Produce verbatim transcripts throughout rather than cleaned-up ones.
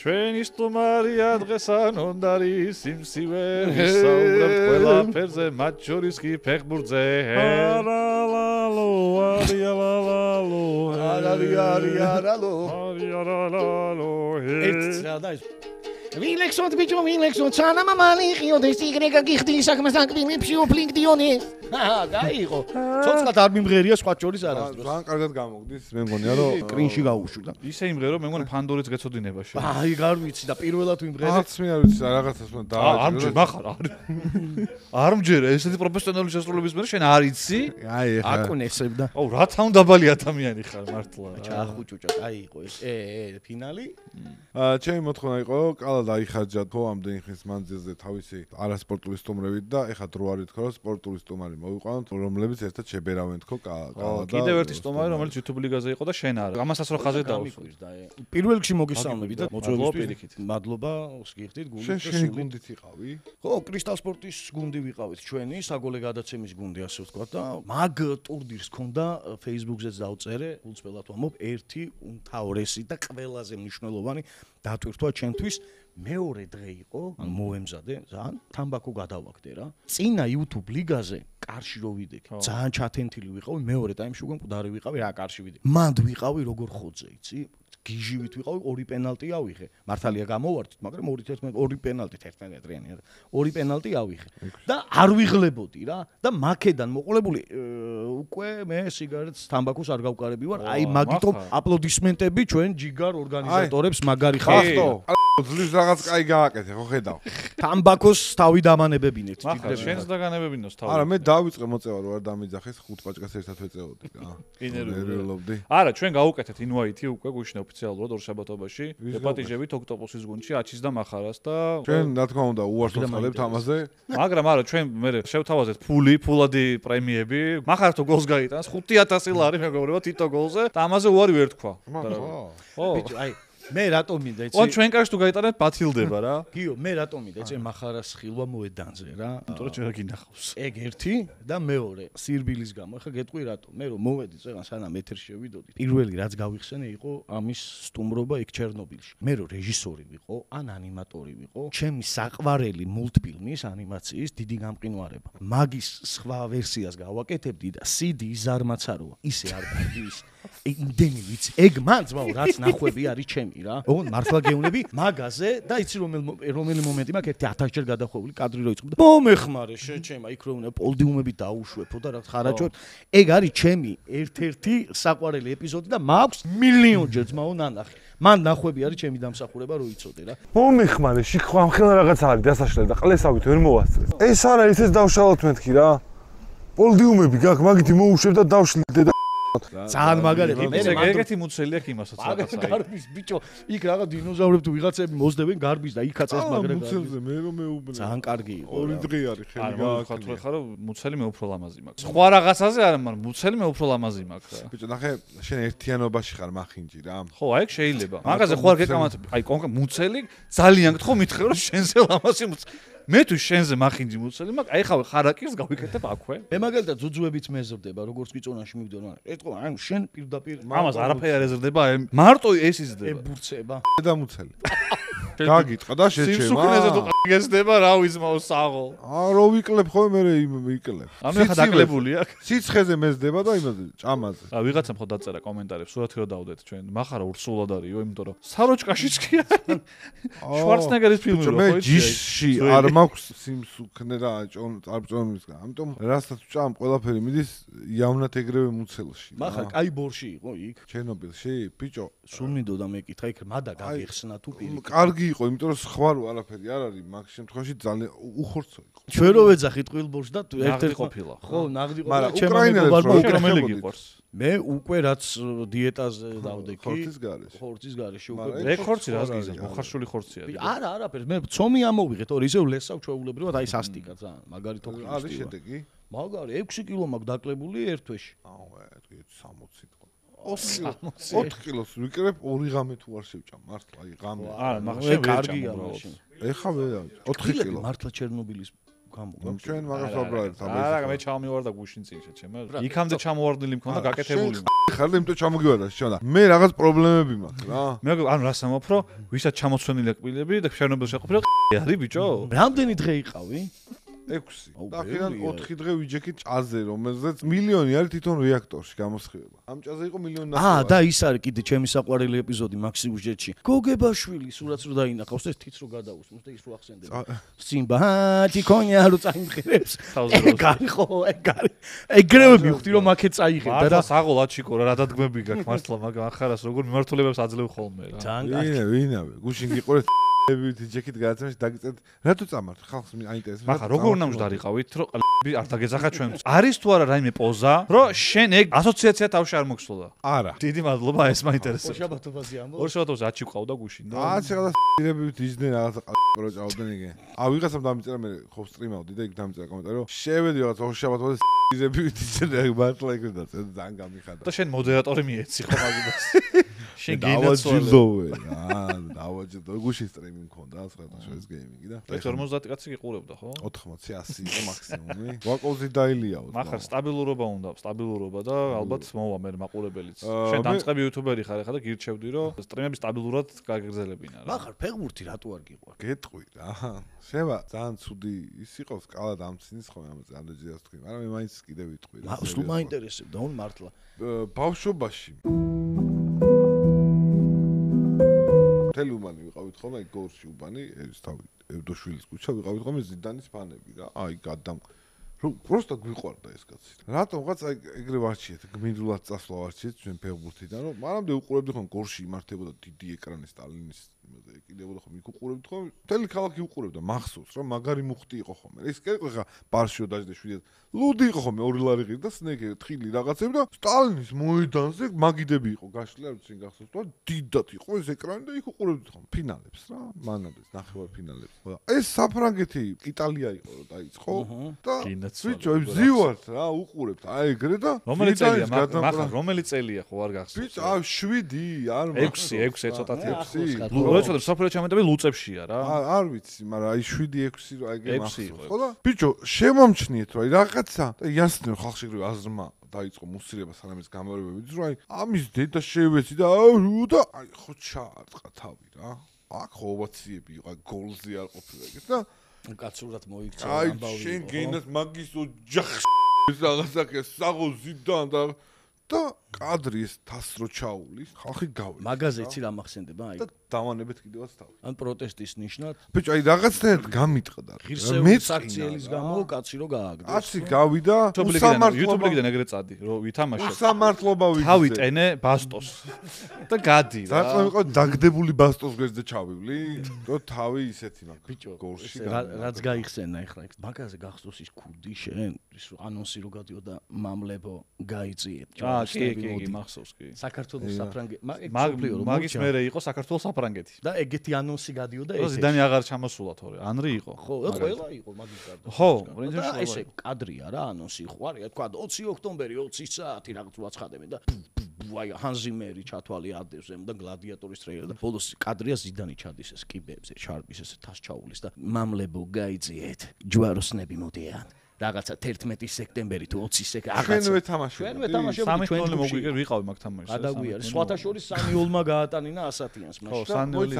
ჩვენი სტუმარია დღესანონდარი სიმსივე ვისაუბრებთ ყველაფერზე მათ შორის კი ფეხბურთზე არალალო არიალალო არარიარიარალო არიალალო ერთ და ის Vilexot bicho vilexot sana mamali ხიოდეს იგრეკა გიხდი საქმეს აკბილი ფსიოფლინკდიონი აა გაიღო ცოცხლად არ მიმღერია სხვა შორის არასდროს ძალიან კარგად გამოგდის მე მგონია რომ კრინში გაუშვიდა ისე იმღერო მე მგონი ფანდორიც გეცოდინება შე აი გარ ვიცი და პირველად ვიმღერე არც მე არ ვიცი რაღაცას უნდა დააჭირო არ მახარ არ მჯერა ესეთი პროფესიონალური შესრულების მე შენ არ იცი აი ეხა აკუნესებდა აუ რა თან დაბალი ადამიანი ხარ მართლა ჩაახუჭუჭა აიღო ეს ე ე ფინალი აა ჩემი მოთხოვნა იყო კალა დაიხარჯა თო ამდენი ხნის მანძილზე თავისი არასპორტული სტუმრებით და ეხა დრო არ ითქვა რომ სპორტული სტუმარი მოვიყვანოთ რომლებიც ერთად შებერავენ თქო კალა და კიდევ ერთი სტუმარი რომელიც YouTube ლიგაზე იყო და შენ არ ამასაც რო ხაზე დაუსვით პირველ რიგში მოგესალმები და მოწვევისთვის მადლობა გიხდით გუნდით შენ შენი გუნდით იყავი ხო კრისტალ სპორტის გუნდი ვიყავით ჩვენი საგოლე გადაცემის გუნდი ასე ვთქვა და მაგ ტურნირს ქონდა Facebook-ზეც დავწერე გულწრფელად ვამბობ ერთი უმთავრესი და ყველაზე მნიშვნელოვანი დატვირთვა ჩემთვის მეორე დღე იყო ან მოემზადე ძალიან თამბაქო გადავაგდე რა წინა YouTube ლიგაზე კარში რო ვიდექ ძალიან ჩათენთილი ვიყავი მეორე ტაიმში უკვე მკვდარი ვიყავი რა კარში ვიდექ მანდ ვიყავი როგორ ხოძე იცი გიჟივით ვიყავი ორი პენალტი ავიღე მართალია გამოვარდით მაგრამ ორი თერთმეტ ორი პენალტი თერთმეტრიანი ორი პენალტი ავიღე და არ ვიღლებოდი რა და მაქედან მოყოლებული უკვე მე სიგარეტს თამბაქოს არ გავკარები ვარ აი მაგიტომ აპლოდისმენტები ჩვენ ჯიგარ ორგანიზატორებს მაგარი ხალხო ძლივს რაღაც კაი გააკეთე ხო ხედავ თამბაქოს თავი დამანებებინეთ ჯიგრები შენს დაგანებებინოს თავი არა მე დავიწყე მოწევა რო არ დამიძახეს ხუთ პაჭკას ერთად ვეწეოდი რა ინერვიულობდი არა ჩვენ გავუკეთეთ ინვაითი უკვე გუშინ ოფიციალურად ორშაბათობაში ეპატიჟებით ოქტოპუსის გუნდში აჩის და მახარას და ჩვენ რა თქმა უნდა უარს ვცხალებთ ამაზე მაგრამ არა ჩვენ მე შევთავაზეთ ფული ფულადი პრემიები მახართო გოლს გაიტანს ხუთი ათასი ლარი მეგობრებო თითო გოლზე და ამაზე უარი ვერ თქვა ხო ბიჭო აი მე რატომ მინდა იცი? ო ჩვენ კარში თუ გაიტანეთ ბათილდება რა. გიო, მე რატომ მინდა იცი მახარას ხილვა მოედანზე რა. იმიტომ რომ ჩვენ გინახავს. ეგ ერთი და მეორე, სირბილის გამო. ახლა გეტყვი რატომ? მე რომ მოვედი წეგან სანამ ეთერში შევიდოდი. პირველი რაც გავიხსენე იყო ამის სტუმრობა იქ ჩერნობილში. მე რომ რეჟისორი ვიყო, ან ანიმატორი ვიყო, ჩემი საყვარელი მულტფილმის ანიმაციის დიდი გამყინვარება. მაგის სხვა ვერსიას გავაკეთებდი და სი დი ზარმაც აროა. ისე არ კარგი ის. იმდენი ვიცი. ეგ მან ძმაო რაც ნახვები არის ჩემი რა. ოღონ მართლა გეუნები მაგაზე და იცი რომელ რომელი მომენტი მაქვს ერთი ათას ჯერ გადახვეული კადრი რო იწყება. მომეხმარე შეჩემა იქ რო უნდა პოლდიუმები დაუშვებო და რა ხარაჯოთ. ეგ არის ჩემი ერთ-ერთი საყვარელი ეპიზოდი და მაქვს მილიონჯერ ძმაო ნანახი. მან ნახვები არის ჩემი დამსახურება რო იცოდე რა. მომეხმარე შიქვა ამხელა რაღაც არის დასაშლელი და ყლესავით ვერ მოვასწრეს. ეს არა ისეც დავშალოთ მეთქი რა. პოლდიუმები გაქვს მაგითი მოუშვებ და დავშლიდე და ძალიან მაგარია მე ეგეთი მუცელი აქვს იმასაც რაღაცა გარბის ბიჭო იქ რაღაც დინოზავრები თუ ვიღაცები მოსდებენ გარბის და იქაც ეს მაგრა მუცელზე მე რომ მეუბნე ძალიან კარგი იყო ორი დღე არის ხელი გააკეთე ხარ რომ მუცელი მე უფრო ლამაზი მაქვს სხვა რაღაცაზე არა მაგრამ მუცელი მე უფრო ლამაზი მაქვს რა ბიჭო ნახე შენ ერთიანობაში ხარ მახინჯი რა ხო აი ეგ შეიძლება მაგაზე ხო არ გეკამათები აი კონკრეტ მუცელი ძალიან გთხო მითხე რომ შენზე ლამაზი მუცელი მე თუ შენზე მახინჯი მუცელი მაქვს აი ხავ ხარაკირს გავიკეთებ აქვე მე მაგალითად ძუძუებიც მეზრდება როგორც გიწონაში მივდონ მაგრამ ეტყო ან შენ პირდაპირ ამას არაფერი არ ეზრდება აი მარტო ეს იზრდება ებურცება და მუცელი გაგიტყა და შეჩემა სიმსუქნეზე თუ გეზდება რა ვიზმაო საღო აა რო ვიკლებ ხო მე ვიკლებ ანუ ხა დაკლებული აქ სიცხეზე მეზდება და იმაზე ჭამაზე რა ვიღაცამ ხო დაწერა კომენტარებს სურათი რო დავდეთ ჩვენ მახარა ურსულად არისო იმიტომ რომ საროჭკაშიც კი არის შვარცნეგერის ფილმი რო ხო ჯიში არ მაქვს სიმსუქნე და ჭონწარმწონისგან ამიტომ რასაც ვჭამ ყველაფერი მიდის იავნად ეგრევე მუცელში მახა კაი ბორში იყო იქ ჩერნობილში ბიჭო სულ მინდოდა მეკითხა იქ მადა გაგიხსნა თუ პირი კარგი იყო იმიტომ რომ სხვა რო არაფერი არ არის მაგ შემთხვევაში ძალიან უხორცო იყო ჩვენ რო ვეძახით ყვილბორში და ერთ-ერთ ყოფილა ხო ნაღდი ყოფილა მაგრამ ჩემო უკრაინელებს რომელი გიყვარს მე უკვე რაც დიეტაზე დავდექი ხორცის გარეშე ხორცის გარეშე უკვე მე ხორცი რას გიზა მოხარშული ხორცი არის არა არაფერი მე ცომი ამოვიღეთ ორი ისე ლესავ ჩვეულებრივად აი სასტიკა ძალიან მაგარი თოქი არის შედეგი მაგარი ექვსი კილო მაქვს დაკლებული ერთ თვეში აუ ეტყვი სამოცი ოთხ კილოს ვიკრებ ორი ღამე თუ არ შევჭამ მართლა აი ღამე არა მაგრამ შენ კარგია მაშინ ეხა ვერ ოთხი კილო მართლა ჩერნობილის გამო. ჩვენ მაგას ვაბრალეთ არა, მე ჩამოვარდა გუშინ წინშე, ჩემ. იქამდე ჩამოვარდნილი მქონდა გაკეთებული. ხარ იმიტომ ჩამოგივარდა შონა. მე რაღაც პრობლემები მაქვს რა. მე ანუ რას ამბობ, რომ ვისაც ჩამოცვენილი კბილები და შენობილ შეყოფილი არის ბიჭო. რამდენი დღე იყავი? ექვსი. და ხიდან ოთხი დღე ვიჯექით ჭაზე, რომელზეც მილიონი არის თვითონ რეაქტორში გამოსხივება. ამ ჭაზე იყო მილიონი ნახევარი. აა და ის არის კიდე ჩემი საყვარელი ეპიზოდი მაქსიუჟეტში. გოგებაშვილი სურათს რო დაინახავს ეს თიც რო გადაუსმოს და ის რო ახსენდება. სიმბა თიკონია რო წაიმღერებს. ეგარი ხო, ეგარი. ეგრევე მივხვდი რომ აქეთ წაიღებდა და საღოლაჩიკო რა დადგმები გაქვს მართლა მაგ ახარას როგორ მიმართულებებს აძლევ ხოლმე რა. ვინა ვინავე გუშინ გიყურეთ ვით ჯეკით გადაცემაში დაგიწეთ რატო წამართ ხალხს აინტერესებს მაგრამ როგორ უნდა მჯდარიყავით რომ ყლები არ დაგეძახა ჩვენ არის თუ არა რაიმე პოზა რომ შენ ეგ ასოციაცია თავში არ მოგსვლოდა არა დიდი მადლობა ეს მაინტერესებს ორშაბათობაზე ამბობ ორშაბათობაზე აჩი ყავდა გუშინ და აა ცელა სირებივით იჯდნენ რაღაცა ყრო ჭავდნენ იგე ა ვიღაცამ დამიწერა მე ხო სტრიმავდი და იქ დამიწერა კომენტარი რომ შევედი რაღაც ორშაბათობაზე სირებივით იჯდნენ მართლა ეგრე და ძალიან გამიხადა და შენ მოდერატორი მიეცი ხო მაგებას შენ გინაცვალე აა დავაჯდო გუშინ სტრიმი მქონდა სხვადასხვა გეიმინგი და ორმოცდაათი კაცი გიყურებდა ხო ოთხმოცი ასი იყო მაქსიმუმი ვაკოზე დაილიაო მაგრამ სტაბილურობა უნდა სტაბილურობა და ალბათ მოვა მე მაყურებელიც შენ დამწყები იუთუბერი ხარ ხა და გირჩევდი რომ სტრიმები სტაბილურად გაგრძელებინა რა მაგრამ ფეხბურთი რატო არ გიყვარ გეტყვი რა შევა ძალიან ცუდი ის იყო სკალა დამცინის ხო ამაზე ანდეჯიას თქვი მაგრამ მე მაინც კიდე ვიტყვი რა სულ მაინტერესებდა ონ მართლა ბავშვობაში მთელი უბანი ვიყავით ხოლმე გორში უბანი ეს თავი ევდოშვილის ქუჩა ვიყავით ხოლმე ზიდანის ფანები რა აი გადამ რომ просто გვიყვარდა ეს კაცი რატომღაც აი ეგრე ვარჩიეთ გმინდულად წასვლა ვარჩიეთ ჩვენ ფეხბურთიდან რომ მანამდე უყურებდი ხოლმე გორში იმართებოდა დიდი ეკრანი სტალინის იმაზე ეკიდებოდა ხოლმე იქ უყურებდი ხოლმე მთელი ქალაქი უყურებდა მახსოვს რომ მაგარი მუხტი იყო ხოლმე ეს კერკო ხა პარშიო დაждე შვიდად ლუდი იყო ხოლმე ორი ლარი ღირდა სნეკი თხილი რაღაცები და სტალინის მოედანზე მაგიდები იყო გაშლილი არ ვიცი გახსოვს და დიდად იყო ეს ეკრანი და იქ უყურებდი ხოლმე ფინალებს რა მანამდე ნახევარ ფინალებს ხო ეს საფრანგეთი იტალია იყო რომ დაიწყო და ბიჭო ზივართ რა უყურებთ აი ეგრე და რომელი წელია მაგრამ რომელი წელია ხო არ გახსოვს ბიჭო აი შვიდი არ ექვსი ექვსი ეცოტათი ექვსი როცა საფრანგეთი ჩამეტები ლუწებშია რა არ ვიცი მაგრამ აი შვიდი ექვსი რა ეგრე მახსოვს ხო და ბიჭო შემომჩნიეთ რა რაღაცა და იასნე ხალხში ეგრე აზრმა დაიწყო მუსილება სანამ ეს გამარებებიც რომ აი ამის დედა შევეცი და აუ და აი ხო ჩაარტყა თავი რა აქ ხო ოვაციები იყო გოლზე არ ყოფილა ეგეთ და კაცურად მოიქცა ამბავი. აი შენ გენდას მაგის ოჯახს რაღაცა საღო ზიდან და და კადრი ეს თასრო ჩაულის ხალხი გავი. მაგაზე იცი რა მახსენდება აი. და დავანებეთ კიდევაც თავი. ან პროტესტის ნიშნად. ბიჭო აი რაღაცნაირად გამიტყდა. ღირსეული საქციელის გამო კაცი რო გააგდეს. კაცი გავიდა YouTube-იდან ეგრე წადი რომ ვითამაშე. სამართლობა ვიცი. თავი ტენე ბასტოს და გადი რა. რა იყო დაგდებული ბასტოს გვერდზე ჩავივლი? რო თავი ისეთი მაქვს. ბიჭო გორში რაც გაიხსენა ახლა იქ. მაგაზე გახსოვს ის ქუდი შენ ის ანონსი რო გადიოდა მამლებო გაიწიეთ. აა კი კი კი მახსოვს კი. საქართველოს საფრანგეთი მაგის მერე იყო საქართველოს საფრანგეთი. და ეგეთი ანონსი გადიოდა ეს. ზიდანი აღარ ჩამოსულა თორე. ანრი იყო. ხო, ყველა იყო მაგის გარდა. ხო, და ესე კადრია რა ანონსი იყო. არის თქვა ოცი ოქტომბერი ოცი საათი რაღაც უაცხადებენ და აი ჰანზიმერი ჩათვალი ადევს ემ და გლადიატორის ტრეილერი და ბოლოს კადრია ზიდანი ჩადის ეს კიბეებზე, შარპის ეს თას ჩაულის და მამლებო გაიწიეთ. ჯვაროსნები მოდიან. რაღაცა თერთმეტი სექტემბერი თუ ოცი სექტემბერი რაღაცა ჩვენვე თამაშობდი ჩვენვე თამაშობდი სამი თველი მოგვიგე ვიყავი მაგ თამაშზე გადაგვიარე სხვათა შორის სამი ოლმა გაატანინა ასათიანს მაშინ ხო სამი ოლი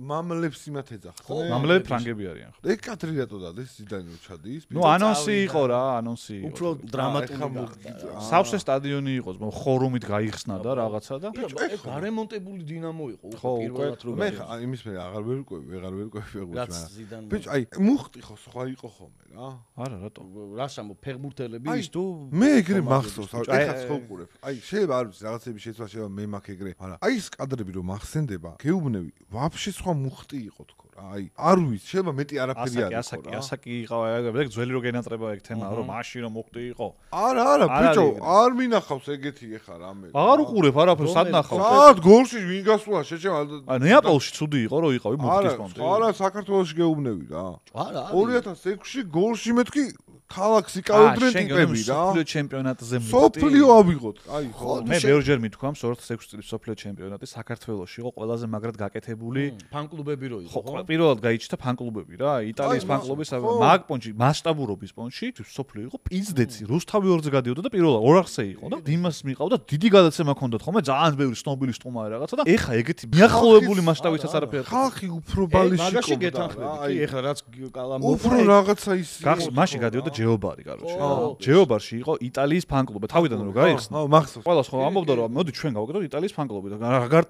მამლებს იმათ ეძახთ ხო მამლები ფრანგები არიან ხო ეგ კადრი რატო დადეს ზიდანი რო ჩადის ნუ ანონსი იყო რა ანონსი იყო უფრო დრამატული გახდა სავსე სტადიონი იყო ხორუმით გაიხსნა და რაღაცა და ეგ გარემონტებული დინამო იყო უფრო პირველად რო მე ხა იმის მე აღარ ვერკვევი ვეღარ ვერკვევი ფეხბურთს ბიჭ აი მუხტი ხო სხვა იყო ხოლმე რა არა რატო რას ამბობ ფეხბურთელები ის თუ მე ეგრე მახსოვს ეხაც ხო უყურებ აი შეიძლება არ ვიცი რაღაცები შეცვლა შეიძლება მე მაქვს ეგრე მაგრამ აი ეს კადრები რომ მახსენდება გეუბნები ვაფშე სხვა მუხტი იყო თქო რა აი არ ვიცი შეიძლება მეტი არაფერი არ იყო რა ასაკი იყო ეგ ძველი რო გენატრება ეგ თემა რომ მაშინ რომ მუხტი იყო არა არა ბიჭო არ მინახავს ეგეთი ეხა რამე აღარ უყურებ არაფერს სად ნახავს სად გორში ვინ გასულა შეჩემა აი ნეაპოლში ცუდი იყო რომ იყავი მუხტის კონტე არა არა საქართველოში გეუბნები რა არა ორი ათას ექვსში გორში მეთქი ქალაქს იკავებდნენ ტიპები რა. სოფლიო ჩემპიონატზე მივდივარ. სოფლიო ავიღოთ. აი, ხო. მე ბევრჯერ მithქვამს ორი ათას ექვსი წლის სოფლიო ჩემპიონატი საქართველოში იყო ყველაზე მაგრად გაკეთებული ფანკლუბები რო იყო, ხო? პირველად გაიჩნდა ფანკლუბები რა, იტალიის ფანკლუბის მაგ პონჩი, მასშტაბურობის პონჩი, სოფლიო იყო პიზდეცი, რუსთავი ორზე გადიოდა და პირველად ორ არხზე იყო და იმას მიყავდა დიდი გადაცემა ჰქონდათ ხოლმე, ძალიან ბევრი ცნობილი სტუმარი რაღაცა და ეხა ეგეთი მიახლოებული მასშტაბითაც არაფერი. ხალხი უფრო ბალიში ყო. მაგაში გეთანხმები, კი, ეხლა რაც კალამო უფრო რაღაცა ის გახსოვს, მაშინ გადიოდა ჯეობარი, კაროჩე. ჯეობარში იყო იტალიის ფანკლუბი, თავიდან რო გაიხსნა. აუ, მახსოვს. ყველას ხო ამბობდა რომ მოდი ჩვენ გავაკეთოთ იტალიის ფანკლუბი და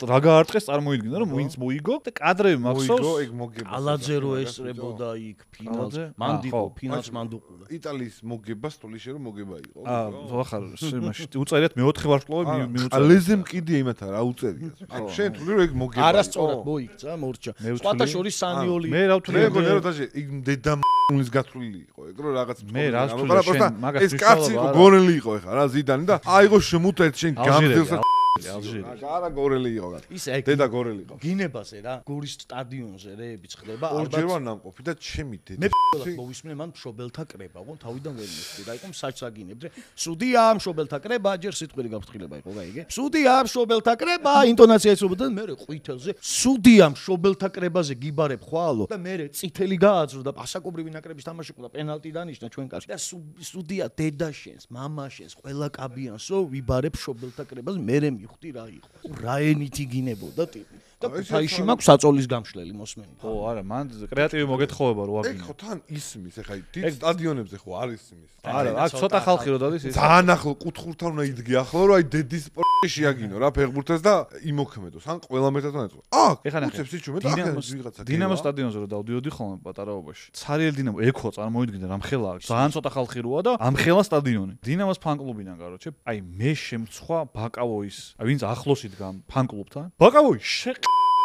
რა გაარტყეს წარმოიდგინა რომ ვინც მოიგო და კადრები მახსოვს. მოიგო, ეგ მოგება. ალაძე რო ესწრებოდა იქ ფინალს, მანდიყო, ფინალს მანდუყულა. იტალიის მოგება სტოლიშე რომ მოგება იყო. აა, ხარ, იმაში უწერიათ მეოთხე ვარსკვლავი მიუწერეთ. ალეზე მყიდია იმათ რა უწერიათ. აი, შენ თვლი რომ ეგ მოგება. არასწორად მოიქცა, მორჩა. სხვათა შორის სანიოლი. მე რა ვთვლი? მე მგონია რომ დაჟე იქ დედა მულის გათვლილი იყო. ეგ რო რაღაც მე რა ვთვლი შენ მაგას ეს კაცი იყო გორელი იყო ეხა რა ზიდანი და აიღო შემუტეთ შენ გამძილს ალჟირი. არა გორელი იყო გა. ის ეგ დედა გორელი იყო. გინებაზე რა, გორის სტადიონზე რეები ხდება, ალბათ. ორჯერ ვარ ნამყოფი და ჩემი დედა. მე პირველად მოვისმენე მან მშობელთა კრება, ხო, თავიდან ვერ მისწრი და იყო საჭს აგინებდე. სუდია მშობელთა კრება, ჯერ სიტყვილი გაფრთხილება იყო, გაიგე? სუდია მშობელთა კრება, ინტონაცია ეცნობოდა და მე ყვითელზე სუდია მშობელთა კრებაზე გიბარებ ხვალო და მე წითელი გააძრო და პასაკობრივი ნაკრების თამაში ყო და პენალტი დანიშნა ჩვენ კარში. და სუდია დედა შენს, მამა შენს, ყველა კაბიანსო ვიბარებ მშობელთა კრებაზე, მე ხვდი რა იყო. რა ენით იგინებოდა ტიპი. და ფაიში მაქვს საწოლის გამშლელი მოსმენი. ხო, არა, მან კრეატივი მოგეთხოვება რო ეგ აგინო. ხო თან ისმის, ეხა დიდ სტადიონებზე ხო არის იმის. არა, აქ ცოტა ხალხი რო დადის ის. ძალიან ახლო კუთხურთან უნდა იდგე ახლო რომ აი დედის პორტში აგინო რა ფეხბურთს და იმოქმედოს. ან ყველა მეტად უნდა ეწყო. აქ ეხლა ნახე. უცებს იჩუმე და აქ ვიღაცა. დინამო სტადიონზე რო დავდიოდი ხოლმე პატარაობაში. ცარიელ დინამო ეხო წარმოიდგინე რამხელა ძალიან ცოტა ხალხი როა და ამხელა სტადიონი. დინამოს ფანკლუბიდან კაროჩე. აი მე შემცხვა ბაკავოის. აი ვინც ახლოს იდგა ფანკლუბთან. ბაკავოი შე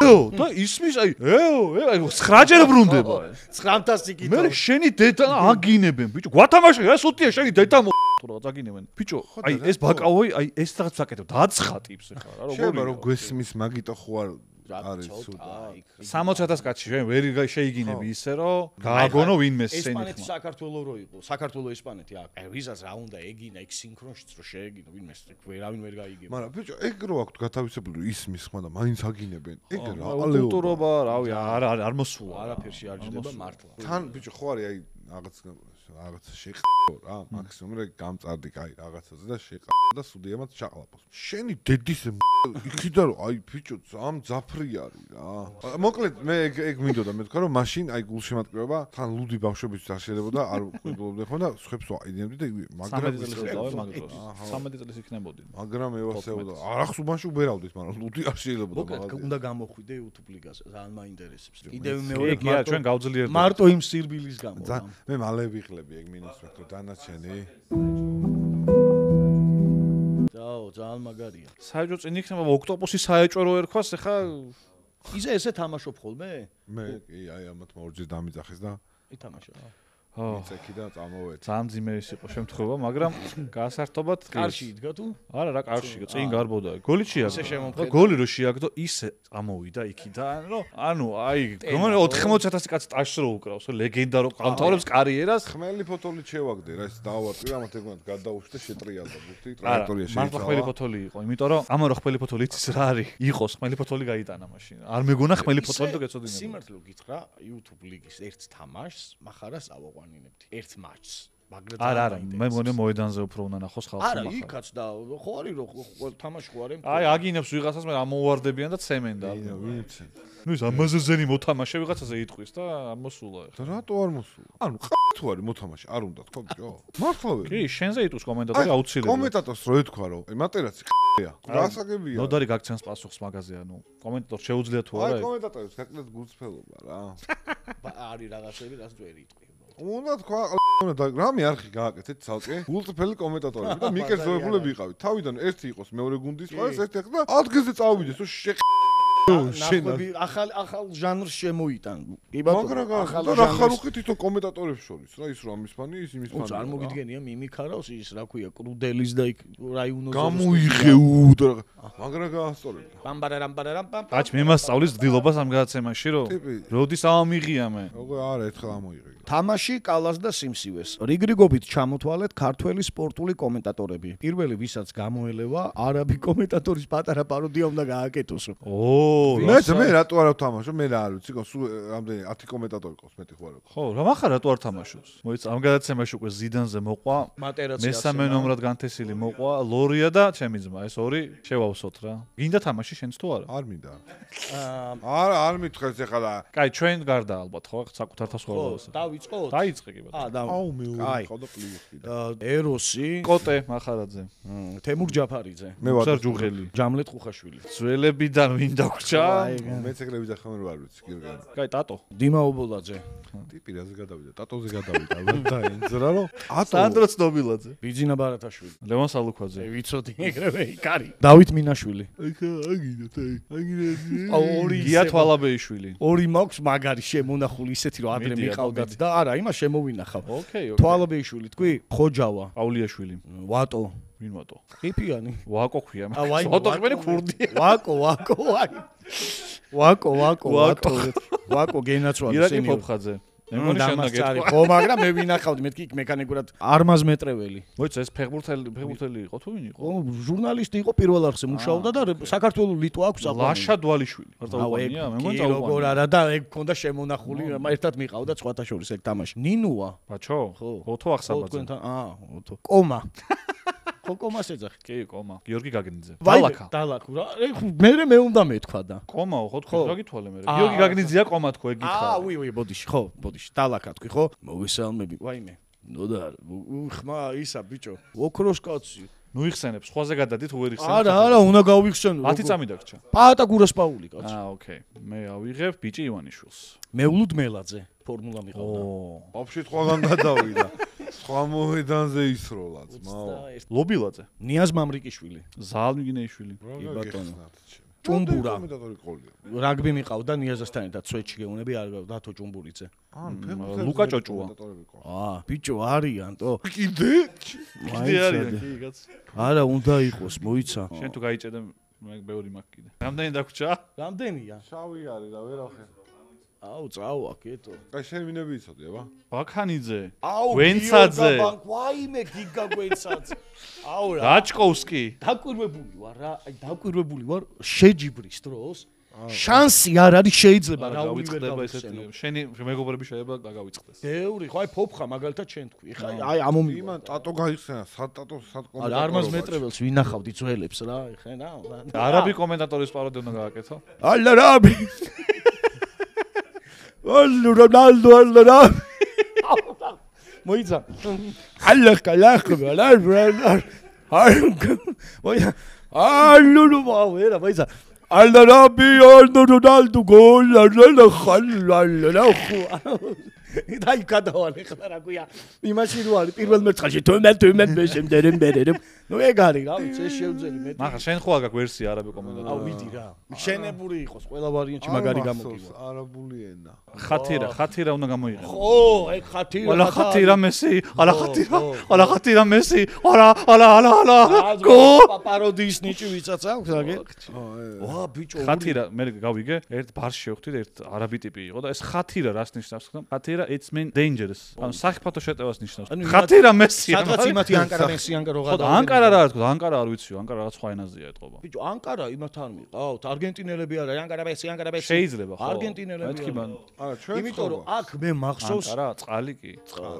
და ისმის აი ეო აი ცხრაჯერ ბრუნდება ცხრამთას იკითხო მე შენი დედა აგინებენ ბიჭო გვათამაშე რა სუტია შენი დედა რა წაგინებენ ბიჭო აი ეს ბაკავოი აი ეს რაღაც საკეთებ დაცხატებს ხა რა როგორ შეიძლება რომ გვესმის მაგიტო ხო არ არის სუდა სამოცი ათას კაცი ჩვენ ვერ შეიგინები ისე რომ გააგონო ვინმე სენი ესპანეთი საქართველო რო იყო საქართველო ესპანეთი აქ აი ვიზას რა უნდა ეგინა იქ სინქრონშიც რო შეეგინო ვინმე ვერავინ ვერ გაიგება მაგრამ ბიჭო ეგ რო აქვთ გათავისებული ისმის ხმა და მაინც აგინებენ ეგ რა კულტურობა რავი არ არ არ მოსულა არაფერში არ ჯდება მართლა თან ბიჭო ხო არის აი რაღაც რაღაც შეყო რა მაქსიმუმ რა გამწარდი კაი რაღაცაზე და შეყა და სუდიამაც ჩაყლაპოს შენი დედის იქიდან რომ აი ბიჭო ამ ძაფრი არის რა მოკლედ მე ეგ ეგ მინდოდა მე თქვა რომ მაშინ აი გულშემატკივრება თან ლუდი ბავშვებიც არ შეიძლება და არ ყვიბლობდნენ ხო და სხვებს ვაიდენებდი და მაგრამ სამეტი წელს იქნებოდი მაგრამ ევასეოდა არ ახსუბანში უბერავდით მაგრამ ლუდი არ შეიძლება და მაგაზე უნდა გამოხვიდე YouTube ლიგაზე ძალიან მაინტერესებს კიდევ მეორე კი ჩვენ გავძლიერდი მარტო იმ სირბილის გამო მე მალე ვიხლები ეგ მინუს ვექტო დანარჩენი დაო ძალიან მაგარია საერთოდ წინ იქნება ოქტოპუსი საეჭვო რო ერქვას ეხა იზე ესე თამაშობ ხოლმე მე კი აი ამათ ორჯერ დამიძახეს და ითამაშა ხო იცექი და წამოვედი ძალიან ძიმერის იყო შემთხვევა მაგრამ გასართობად კარში იდგა თუ არა რა კარში იყო წინ გარბოდა გოლი ისე შეაგდო შემომხედა. გოლი რო შეაგდო ისე წამოვიდა იქიდან რომ ანუ აი გომენ ოთხმოცი ათასი კაცი ტაშს რო უკრავს ლეგენდა რო ყავთაურებს კარიერას ხმელი ფოტოლით შევაგდე რა ეს დავარტყი რა მათე გონათ გადაუშვი და შეტრიალდა ბუთი ტრაექტორია შეიცვალა მართლა ხმელი ფოტოლი იყო იმიტომ რომ ამა რო ხმელი ფოტოლი იცის რა არის იყოს ხმელი ფოტოლი გაიტანა მაშინ არ მეგონა ხმელი ფოტოლი და გეწოდინება სიმართლე გითხრა YouTube ლიგის ერთ თამაშს מחარას ავაყვანინებდი ერთ მატჩს მაგრამ არა არა მე მგონია მოედანზე უფრო უნდა ნახოს ხალხი არა იქაც და ხო არის რომ თამაში ხო არის აი აგინებს ვიღაცას მე ამოვარდებიან და ცემენ და ვიცი ნუ ეს ამაზეზენი მოთამაშე ვიღაცაზე იტყვის და ამოსულა და რატო არ მოსულა ანუ ყ***თუ არის მოთამაშე არ უნდა თქო ბიჭო მართლა ვერ კი შენზე იტყვის კომენტატორი აუცილებლად კომენტატორს რო ეთქვა რომ აი მატერაცი ყ***ია გასაგებია ნოდარი გაგცემს პასუხს მაგაზე ანუ კომენტატორს შეუძლია თუ არა აი კომენტატორს გაკლეთ გულწრფელობა რა არის რაღაცები რაც ვერ იტყვი უნდა თქვა უნდა რამე არხი გააკეთეთ ცალკე გულწრფელი კომენტატორები და მიკერძოებულები იყავით თავიდან ერთი იყოს მეორე გუნდის ყავს ერთი ახლა ადგილზე წავიდეს ო შე ნახები ახალ ახალ ჟანრს შემოიტან. კი ბატონო. მაგრამ რა ხარუხი თვითონ კომენტატორებს შორის რა ის რომ ამის ფანი ის იმის ფანი. არ მოგიდგენია მიმიქარავს ის რა ქვია კრუდელის და იქ რაიონოს გამოიღე უ და მაგრამ გაასწორებდა. პამბარარამბარარამ პამ. აჩ მე მასწავლის დილობას ამ გადაცემაში რომ როდის ამიღია მე. როგორ არა ერთხელ ამოიღე. თამაში, კალას და სიმსივეს. რიგრიგობით ჩამოთვალეთ ქართველი სპორტული კომენტატორები. პირველი, ვისაც გამოელევა, არაბი კომენტატორის პატარა პაროდია უნდა გააკეთოს. ო, მე მე რატო არ ვთამაშო? მე რა არ ვიცი, სულ რამდენი ათი კომენტატორი ყავს მეტი ხო არა. ხო, რა მახარ რატო არ თამაშობს? მოიცა ამ გადაცემაში უკვე ზიდანზე მოყვა, მესამე ნომრად განთესილი მოყვა, ლორია და ჩემი ძმა, ეს ორი შევავსოთ რა. გინდა თამაში შენც თუ არა? არ მინდა. არ არ მითხეს ეხლა. კაი, ჩვენ გარდა ალბათ ხო, საკუთარ თავს ხოლმე. დავიწყოთ? დაიწყე კი ბატონო. აა, და აუ მე ვიყავ და პლიუსი და ეროსი, კოტე მახარაძე. თემურ ჯაფარიძე, მე ვარ ჯუღელი. ჯამლეთ ხუხაშვილი. ძველებიდან ვინ დაგვრჩა? მეც ეგრე ვიძახ ხომ არ ვიცი გირგან. კაი, ტატო. დიმა ობოლაძე. ტიპი რაზე გადავიდა? ტატოზე გადავიდა. და ენძრა რო? სანდრო ცნობილაძე. ბიძინა ბარათაშვილი. ლევან სალუქვაძე. ვიცოდი ეგრევე იკარი. დავით მინაშვილი. ეხა აგინოთ აი. აგინეთ. ორი გია თვალაბეიშვილი. ორი მაქვს მაგარი შემონახული ისეთი რომ ადრე მიყავდათ და არა, იმას შემოვინახავ. ოკეი, ოკეი. თვალაბეიშვილი თქვი? ხოჯავა. პაულიაშვილი. ვატო. ვინ ვატო? ყიფიანი. ვაკო ქვია. ა ვაი. ვატო ხმენი ქურდია. ვაკო, ვაკო, ვაი. ვაკო, ვაკო, ვაკო. ვაკო გენაცვალე ირაკი სენიორი. ფოფხაძე. მე მგონი შენდა გეტყვა. ხო, მაგრამ მე ვინახავდი, მეთქი იქ მექანიკურად არმაზ მეტრეველი. მოიცა ეს ფეხბურთელი, ფეხბურთელი იყო თუ ვინ იყო? ხო, ჟურნალისტი იყო პირველ არხზე მუშაობდა და საქართველოს ლიტვა აქვს აყვანი. ლაშა დვალიშვილი. არ წაუყვანია? მე მგონი წაუყვანია. როგორ წაუყვანია. არა და ეგ ქონდა შემონახული, ერთად მიყავდა სხვათა შორის ეგ თამაში. ნინუა. ბაჩო? ხო. ოთო ახსაბაძე. თქვენთან, აა, ოთო. კომა. ხო, კომას ეძახი. კი, კომა. გიორგი გაგნიძე. დალაკა. დალაკა. მე მე უნდა მეთქვა და. კომაო, ხო თქვი, რა გითვალე მე. გიორგი გაგნიძეა კომა თქო, ეგ გითხარ. აა, უი, უი, ბოდიში, ხო, ბოდიში. დალაკა თქვი, ხო? მოგესალმები. ვაიმე. ნოდა, უხმა ისა ბიჭო. ოქროს კაცი. ნუ იხსენებ, სხვაზე გადადით უერ იხსენებ. არა, არა, უნდა გავიხსენო. ათი წამი დაგჭა. პაატა გურასპაული კაცი. აა, ოკეი. მე ავიღებ ბიჭი ივანიშვილს. მეულუდ მელაძე. ფორმულა მიყავდა. ო, ოფში სხვაგან გადავიდა. სხვა მოედანზე ისროლა ძმაო. ლობილაძე. ნიაზ მამრიკიშვილი. ზალმიგინეიშვილი. ბატონო. ჭუმბურა. კომენტატორი ყოლია. რაგბი მიყავდა ნიაზასთან ერთად სვეტში გეუნები არ დათო ჭუმბურიძე. ან ლუკა ჭოჭუა. აა, ბიჭო არიანტო. კიდე? კიდე არის კი კაც. არა, უნდა იყოს, მოიცა. შენ თუ გაიჭედე მე ბევრი მაქვს კიდე. რამდენი დაგვრჩა? რამდენია? შავი არის და ვერახე. აუ, წავა, კეთო. აი შენ ვინები იცოდი, აბა? ბაქანიძე. აუ, ვენცაძე. ვაიმე, გიგა გვენცაძე. აუ რა. რაჭკოვსკი. დაკვირვებული ვარ რა, აი დაკვირვებული ვარ შეჯიბრის დროს. შანსი არ არის შეიძლება რა გავიწყდება ესეთი. შენი მეგობრები შეიძლება გაგავიწყდეს. ბევრი, ხო აი ფოფხა მაგალითად შენ თქვი. ხა აი ამომი. იმან ტატო გაიხსენა, სად ტატო, სად კომენტატორი. არა, არმაზ მეტრეველს ვინახავდი ძველებს რა, ხენა. არაბი კომენტატორის პაროდია უნდა გააკეთო. ალა რაბი. ალ რონალდო ალ რაბი. მოიცა. ალა კალახ გალა რა. აი მოიცა. ალ ნუ ვერა მოიცა. ალა რაბი ალ რონალდო გოლ ალა ხალ ალა ხუ. დაი გადავალე ხლა რა გვია. იმაში რო არის პირველ მერცხალში თუმენ თუმენ მე შემდერემ ბერერემ. ნუ ეგ არის რა ვიცი ეს შევძელი მე. მაგრამ შენ ხო აგაკ ვერსია არაბი კომენტატორი. აუ ვიდი რა. შენებური იყოს ყველა ვარიანტში მაგარი გამოგივა. არაბული ენა. ხათირა, ხათირა უნდა გამოიყენო. ხო, ეგ ხათირა. ალა ხათირა მესი, ალა ხათირა, ალა ხათირა მესი, ალა ალა ალა ალა. გო პაროდიის ნიჭი ვიცაც აქვს აგე. ვა ბიჭო. ხათირა მე გავიგე, ერთ ბარში შევხვდით, ერთ არაბი ტიპი იყო და ეს ხათირა რას ნიშნავს ხომ? ხათირა it's mean dangerous. ანუ საფათო შეტევას ნიშნავს. ხათირა მესი. სადღაც იმათი ანკარა მესი ანკარა ხო და ანკარა რა თქო, ანკარა არ ვიციო, ანკარა რაღაც სხვა ენაზეა ეთყობა. ბიჭო, ანკარა იმათთან მიყავთ, არგენტინელები არა, ანკარა მესი, ანკარა მესი. შეიძლება ხო. არგენტინელები. მეთქი მან. არა, ჩვენ იმიტომ რომ აქ მე მახსოვს ანკარა, წყალი კი.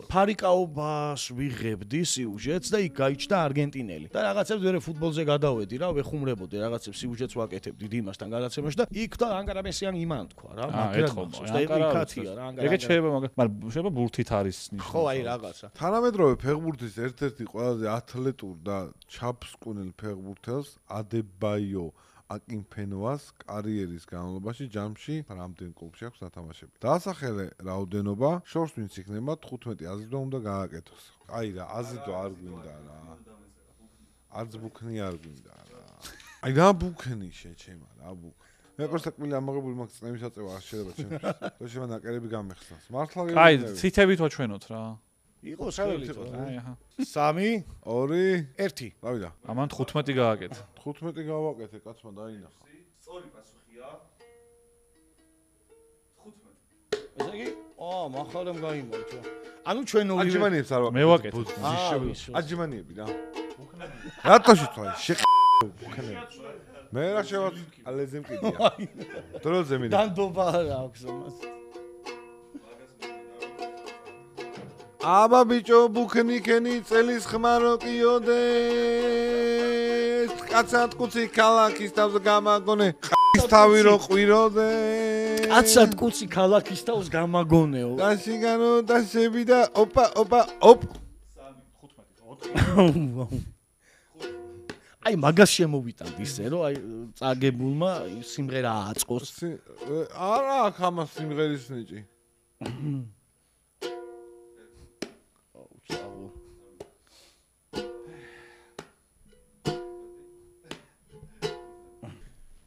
ფარიკაობას ვიღებდი სიუჟეტს და იქ გაიჩნდა არგენტინელი. და რაღაცებს ვერე ფუტბოლზე გადავედი რა, ვეხუმრებოდი რაღაცებს სიუჟეტს ვაკეთებდი დიმასთან გადაცემაში და იქ და ანკარა მესი ან იმან თქვა რა, მაგრამ მახსოვს და იქათია რა, ანკარა. ეგეც შეიძლება, მაგრამ შეიძლება ბურთით არის ნიშნავს. ხო, აი რაღაცა. თანამედროვე ფეხბურთის ერთ-ერთი ყველაზე ათლეტურ და ჩაფსკვნელ ფეხბურთელს ადებაიო აკინფენოას კარიერის განმავლობაში ჯამში რამდენ კლუბში აქვს ნათამაშები. დაასახელე რაოდენობა, შორს ვინც იქნება თხუთმეტი აზიდვა უნდა გააკეთოს. აი რა, აზიდვა არ გვინდა რა. არც ბუქნი არ გვინდა რა. აი რა ბუქნი შეჩემა რა ბუქ. მე просто კმილი ამაღებული მაქვს წნევის აწევა არ შეიძლება ჩემთვის. და შევა ნაკერები გამეხსნას. მართლა გიგო. აი, ცითებით ვაჩვენოთ რა. იყო საველი იყო. აი, აჰა. სამი, ორი, ერთი. დავიდა. ამან თხუთმეტი გააკეთე. თხუთმეტი გავაკეთე, კაცმა დაინახა. სწორი პასუხია. თხუთმეტი. ესე იგი, აა, მახარემ გაიმარჯვა. ანუ ჩვენ ორივე აჯიმანიებს არ ვაკეთებ. მე ვაკეთებ. აჯიმანიები რა. რატოში თქვა? შეყენები. მე რა შევაც ალეზე მყიდია. დროზე მინდა. დანდობა რა აქვს ამას. აბა ბიჭო ბუქნიკენი წელის ხმარო ყიოდეს. კაცად კუცი ქალაქის თავს გამაგონე. ყის თავი რო ყვიროდე. კაცად კუცი ქალაქის თავს გამაგონეო. დაშიგანო დაშები და ოპა ოპა ოპ. აი მაგას შემოვიტანთ ისე რომ აი წაგებულმა სიმღერა აწყოს. არა აქ ამას სიმღერის ნიჭი.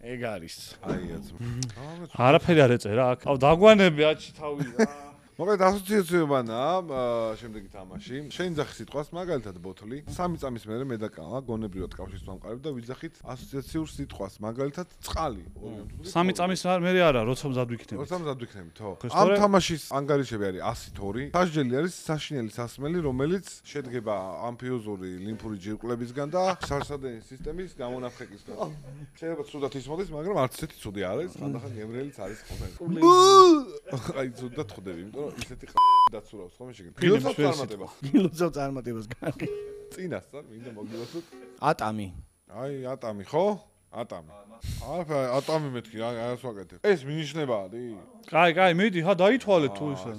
ეგ არის. აიაც. არაფერი არ ეწერა აქ. აუ დაგვანები აჩი თავი რა. მოკლედ ასოციაციებანა შემდეგი თამაში. შენ ძახი სიტყვას მაგალითად ბოთლი. სამი წამის მერე მე და კალა გონებრივად კავშირს ვამყარებ და ვიძახით ასოციაციურ სიტყვას მაგალითად წყალი. სამი წამის მერე არა, როცა მზად ვიქნები. როცა მზად ვიქნები, თო. ამ თამაშის ანგარიშები არის ასით ორი. სასჯელი არის საშინელი სასმელი, რომელიც შედგება ამფიოზური ლიმფური ჯირკლებისგან და სარსადენის სისტემის გამონაფხეკისგან. შეიძლება ცუდად ისმოდეს, მაგრამ არც ესეთი ცუდი არ არის, ხანდახან გემრიელიც არის ხოლმე. აი ცუდად ხვდები, იმიტომ ისეთი დაცურავს ხოლმე შეგენ. გილოცავ წარმატებას. გილოცავ წარმატებას კარგი. წინასწარ მინდა მოგილოცოთ. ატამი. აი ატამი ხო? ატამი. არა ატამი მეთქი რა არას ვაკეთებ. ეს მინიშნებაა დი? კაი, კაი, მიდი, ხა დაითვალეთ თუ ისე.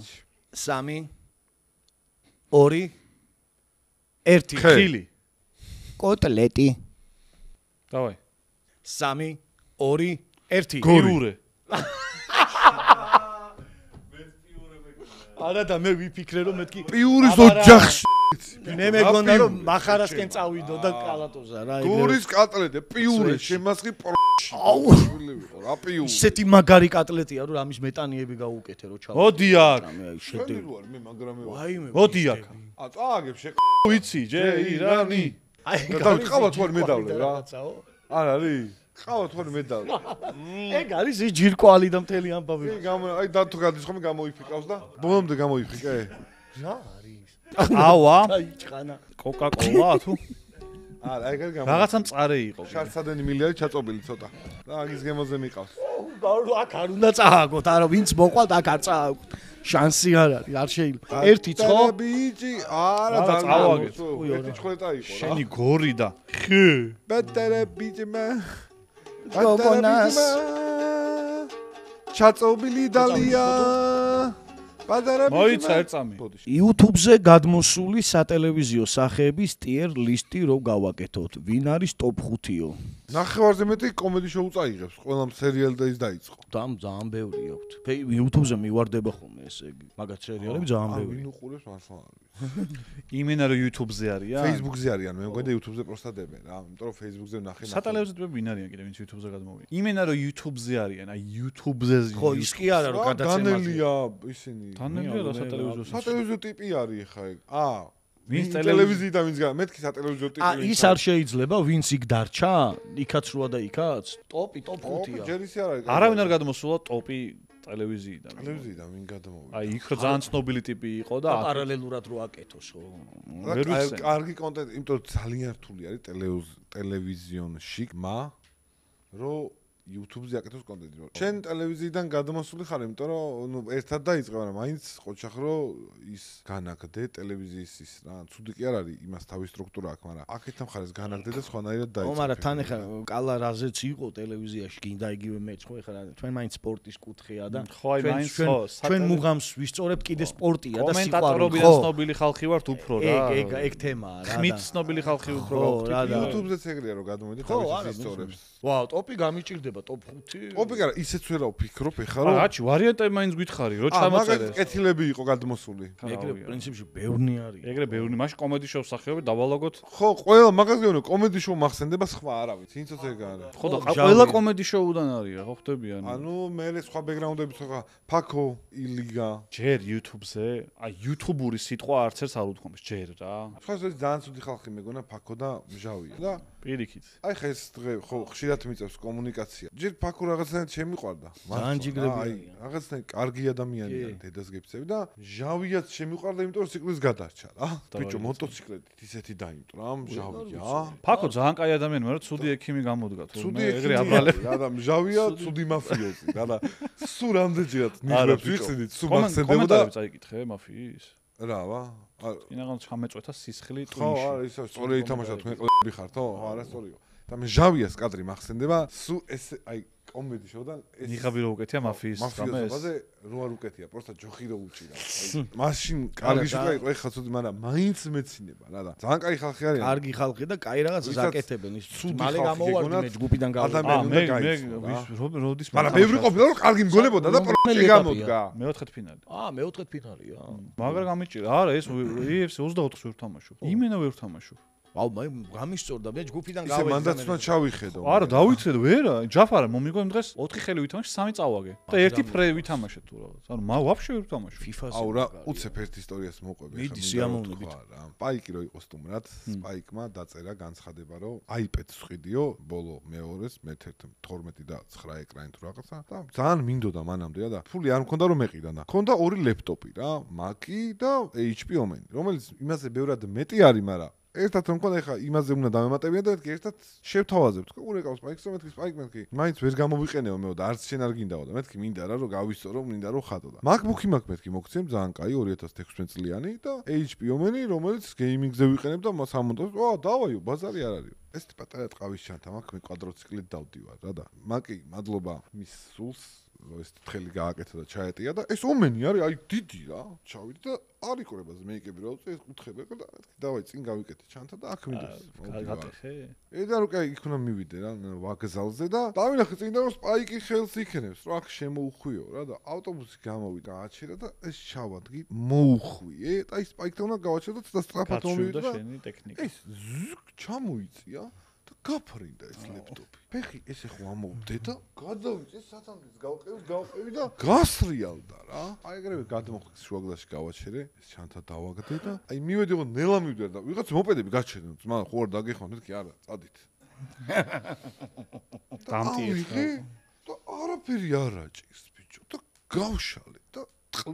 სამი ორი ერთი ხილი. კოტლეტი. დავაი. სამი ორი ერთი გორიურე. არა და მე ვიფიქრე რომ მეთქი პიურის ოჯახში. მე მეგონა რომ מחარასკენ წავიდო და კალატოზა რა ეგრე. გურის კატლეტე, პიურე, შემასხი პროში. აუ, რა პიური. ისეთი მაგარი კატლეტია რომ ამის მეტანიები გაუკეთე რო ჩავ. მოდი აქ. აი შედევრი. მე მაგრამე ვარ. ვაიმე. მოდი აქ. ა წააგებ შე. ვიცი, ჯე ირანი. აი და ყავა თوار მედავლე რა. არ არის. ყავა თوار მედავლე. ეგ არის ის ჯირკვალი და მთელი ამბავი. კი გამო აი და თუ გადის ხომ გამოიფიკავს და ბოლომდე გამოიფიკე. რა არის? ავა. აიჭყანა. კოკა-კოლა თუ? არა, ეგ არ გამო. რაღაცა მწარე იყო. შარცადენი მილი არის ჩაწობილი ცოტა. და აგის გემოზე მიყავს. გარო აქ არ უნდა წააგოთ, არა ვინც მოყვალთ აქ არ წააგოთ. შანსი არ არის, არ შეიძლება. ერთი ცხო? ბიჭი, არა არა, წავაგეთ. ერთი ცხლეტა იყო რა. შენი გორი და ხე. ბატარა ბიჭმა. გოგონას. ჩაწობილი დალია. ბატარა ბიჭმა. მოიცა ერწამი. YouTube-ზე გადმოსული სატელევიზიო სახეების tier list-ი რო გავაკეთოთ. ვინ არის top ხუთიო? ნახევარზე მეტი კომედი შოუ წაიღებს. ყველამ სერიალი და ის დაიწყო. დამ ძალიან ბევრი აქვს. YouTube-ზე მივარდება ხოლმე ესე იგი. მაგათ სერიალები ძალიან ბევრი. ვინ უყურებს მართლა არ ვიცი. იმენა რომ YouTube-ზე არიან? Facebook-ზე არიან, მე მგონი და YouTube-ზე პროსტა დებენ რა. იმიტომ რომ Facebook-ზე ვნახე. სატელევიზიო ტიპები ვინ არიან კიდე ვინც YouTube-ზე გადმოვიდა? იმენა რომ YouTube-ზე არიან, აი YouTube-ზე. ხო, ის კი არა რომ გადაცემაზე. განელია ისინი. დანელია რა სატელევიზიო. სატელევიზიო ტიპი არის ხა ეგ. აა ვინც ტელევიზიიდან ვინც გა მეთქი სატელევიზიო ტიპი. ა ის არ შეიძლება ვინც იქ დარჩა? იქაც როა და იქაც? ტოპი, ტოპ ხუთია. ჯერ ისე არ არის. არავინ არ გადმოსულა ტოპი ტელევიზიიდან. ტელევიზიიდან ვინ გადამოვიდა? აი იქ რო ძალიან ცნობილი ტიპი იყო და პარალელურად რო აკეთოს ხო? ვერ ვიცი. კარგი კონტენტი, იმიტომ რომ ძალიან რთული არის ტელევიზიონში მა რო YouTube-ზე აკეთოს კონტენტი. შენ ტელევიზიიდან გადმოსული ხარ, იმიტომ რომ ნუ ერთად დაიწყე, მაგრამ მაინც ყოჩახრო ის განაგდე ტელევიზიის ის რა, ცუდი კი არ არის, იმას თავის სტრუქტურა აქვს, მაგრამ აქეთ მხარეს განაგდე და სხვანაირად დაიწყე. ო, მაგრამ თან ეხა კალა რაზეც იყო ტელევიზიაში, გინდა იგივე მეც ხო ეხლა ჩვენ მაინც სპორტის კუთხეა და ხო, აი მაინც ხო, ჩვენ მუღამს ვისწორებთ კიდე სპორტია და სიყვარული. კომენტატორობიდან ცნობილი ხალხი ვართ უფრო რა. ეგ ეგ ეგ თემაა რა. ხმით ცნობილი ხალხი უფრო გავხდით. YouTube-ზეც ეგრეა რომ გადმოვიდი თავის ისტორიებს. ვაუ, ტოპი გამიჭირდება, ტოპ ხუთი. ოპი არა, ისეც ვერა ვფიქრობ ეხლა რომ აჩი, ვარიანტები მაინც გითხარი, რო აა, მაგალითად ჩამოწერეს. კეთილები იყო გადმოსული. ეგრე პრინციპში ბევრნი არის. ეგრე ბევრი, მაშინ კომედი შოუს სახეობები დავალაგოთ. ხო, ყველა მაგას გეუბნები, კომედი შოუ მახსენდება სხვა არავის. ინცოც ეგ არის. ხო და ყველა კომედი შოუდან არიან, ხო ხდებიან? ანუ მე სხვა ბექგრაუნდები სხვა ფაქო, ილიგა. ჯერ YouTube-ზე, აი YouTube-ური სიტყვა არც ერთს არ უთქვამს, ჯერ რა. სხვა ეს ძალიან ცუდი ხალხი მეგონა ფაქო და მჟავია. და პირიქით. აი ხა ეს დღე ხო ხშირად მიწევს კომუნიკაცია იცი ჯერ ფაქო რაღაცნაირად შემიყვარდა ძალიან ჯიგრებიანი რაღაცნაირად კარგი ადამიანია დედას გეფცები და ჟავიაც შემიყვარდა იმიტომ რომ ციკლის გადარჩა რა ბიჭო მოტოციკლეთით ისეთი დაიმტრა ჟავია ფაქო ძალიან კაი ადამიანი მაგრამ ცუდი ექიმი გამოდგა ცუდი ეგრე აბრალები რა და ჟავია ცუდი მაფიოზი რა და სულ რამდენჯერაც ნიჟებს ვიხსნით სულ მახსენდებოდა კომენტარები წაიკითხე მაფიის რა ვა ინაღამ ჩამეწვეთა სისხლი ტვინში ხო ტვინში არა ისე სწორი ითამაშოთ მე ყლები ხარ ხო არა სწორიო და მე ჟავიას კადრი მახსენდება სულ ეს აი კომედი შოუ და ეს ნიღაბი რო უკეთია მაფიის რამე ეს რო არ უკეთია პროსტა ჯოხი რო უჭირა მაშინ კარგი შოუ იყო ეხლა ცუდი მაგრამ მაინც მეცინება რა და ძალიან კაი ხალხი არიან კარგი ხალხი და კაი რაღაცას აკეთებენ ის მალე გამოვარდი მე ჯგუფიდან ადამიანი მე უნდა მე როდის მაგრამ ბევრი ყოფილა რომ კარგი მგონებოდა და პროექტი გამოდგა მეოთხედ ფინალი აა მეოთხედ ფინალია მაგრამ გამიჭირა არა ეს იუ ეფ სი ოცდაოთხს ვერ თამაშობ იმენა ვერ თამაშობ აუ მე გამისწორდა მე ჯგუფიდან გავედი ისე მანდაც უნდა ჩავიხედო არა დავიცედო ვერა ჯაფარა მომიგო იმ დღეს ოთხი ხელი ვითამაშე სამი წავაგე და ერთი ფრე ვითამაშე თუ რაღაც ანუ მა ვაფშე ვერ ვთამაშე ფიფაზე აუ რა უცებ ერთ ისტორიას მოყვები მიდი სიამოვნებით რა სპაიკი რო იყო სტუმრად სპაიკმა დაწერა განცხადება რომ აიპედს ვყიდიო ბოლო მეორეს მე-ერთ თორმეტი და ცხრა ეკრანი თუ რაღაცა და ძალიან მინდოდა მანამდე და ფული არ მქონდა რომ მეყიდა და მქონდა ორი ლეპტოპი რა მაკი და ეიჩ პი ომენი რომელიც იმაზე ბევრად მეტი არის მაგრამ ერთად რომ მქონდა ეხა იმაზე უნდა დამემატებიან და მეთქი ერთად შევთავაზებთ ხო ურეკავს სპაიკს რომ მეთქი სპაიკ მეთქი მაინც ვერ გამოვიყენეო მეო და არც შენ არ გინდაო და მეთქი მინდა რა რომ გავისწორო მინდა რომ ხადო და MacBook-ი მაქვს მეთქი მოგცემ ძალიან კაი ორი ათას თექვსმეტ წლიანი და ეიჩ პი ომენი რომელიც გეიმინგზე ვიყენებ და სამონტაჟს ვა დავაიო ბაზარი არ არისო ეს პატარა ტყავის ჩანთა მაქვს მე კვადროციკლით დავდივარ რა და მაკი მადლობა მის სულს ეს თხელი გააკეთა და ჩაეტია და ეს ომენი არის აი დიდი რა ჩავიდი და არ იყურებაზე მე იკები რა უწე ეს კუთხები და დავაი წინ გავიკეთე ჩანთა და აქ მიდის გატეხე ედა რო კაი იქ უნდა მივიდე რა ვაგზალზე და დავინახე წინ და რომ სპაიკი ხელს იქნებს რა აქ შემოუხვიო რა და ავტობუსი გამოვიდა აჩერა და ეს ჩავადგი მოუხვიე და ის სპაიკთან უნდა გავაჩერდო და სწრაფად მომივიდა და შენი ტექნიკა ეს ჩამოიწია და გაფრინდა ეს ლეპტოპი ფეხი ესე ხო ამოვდე და გადავიწე სათანადოს გავყევი გავყევი და გასრიალდა რა აი ეგრევე გადმოხდეს შუაგლაში გავაჩერე ეს ჩანთა დავაგდე და აი მივედი ხო ნელა მივდე და ვიღაც მოპედები გაჩერდნენ ძმა ხო არ დაგეხმართ მეთქი არა წადით დამტიე და არაფერი არ აჭირს ბიჭო და გავშალე და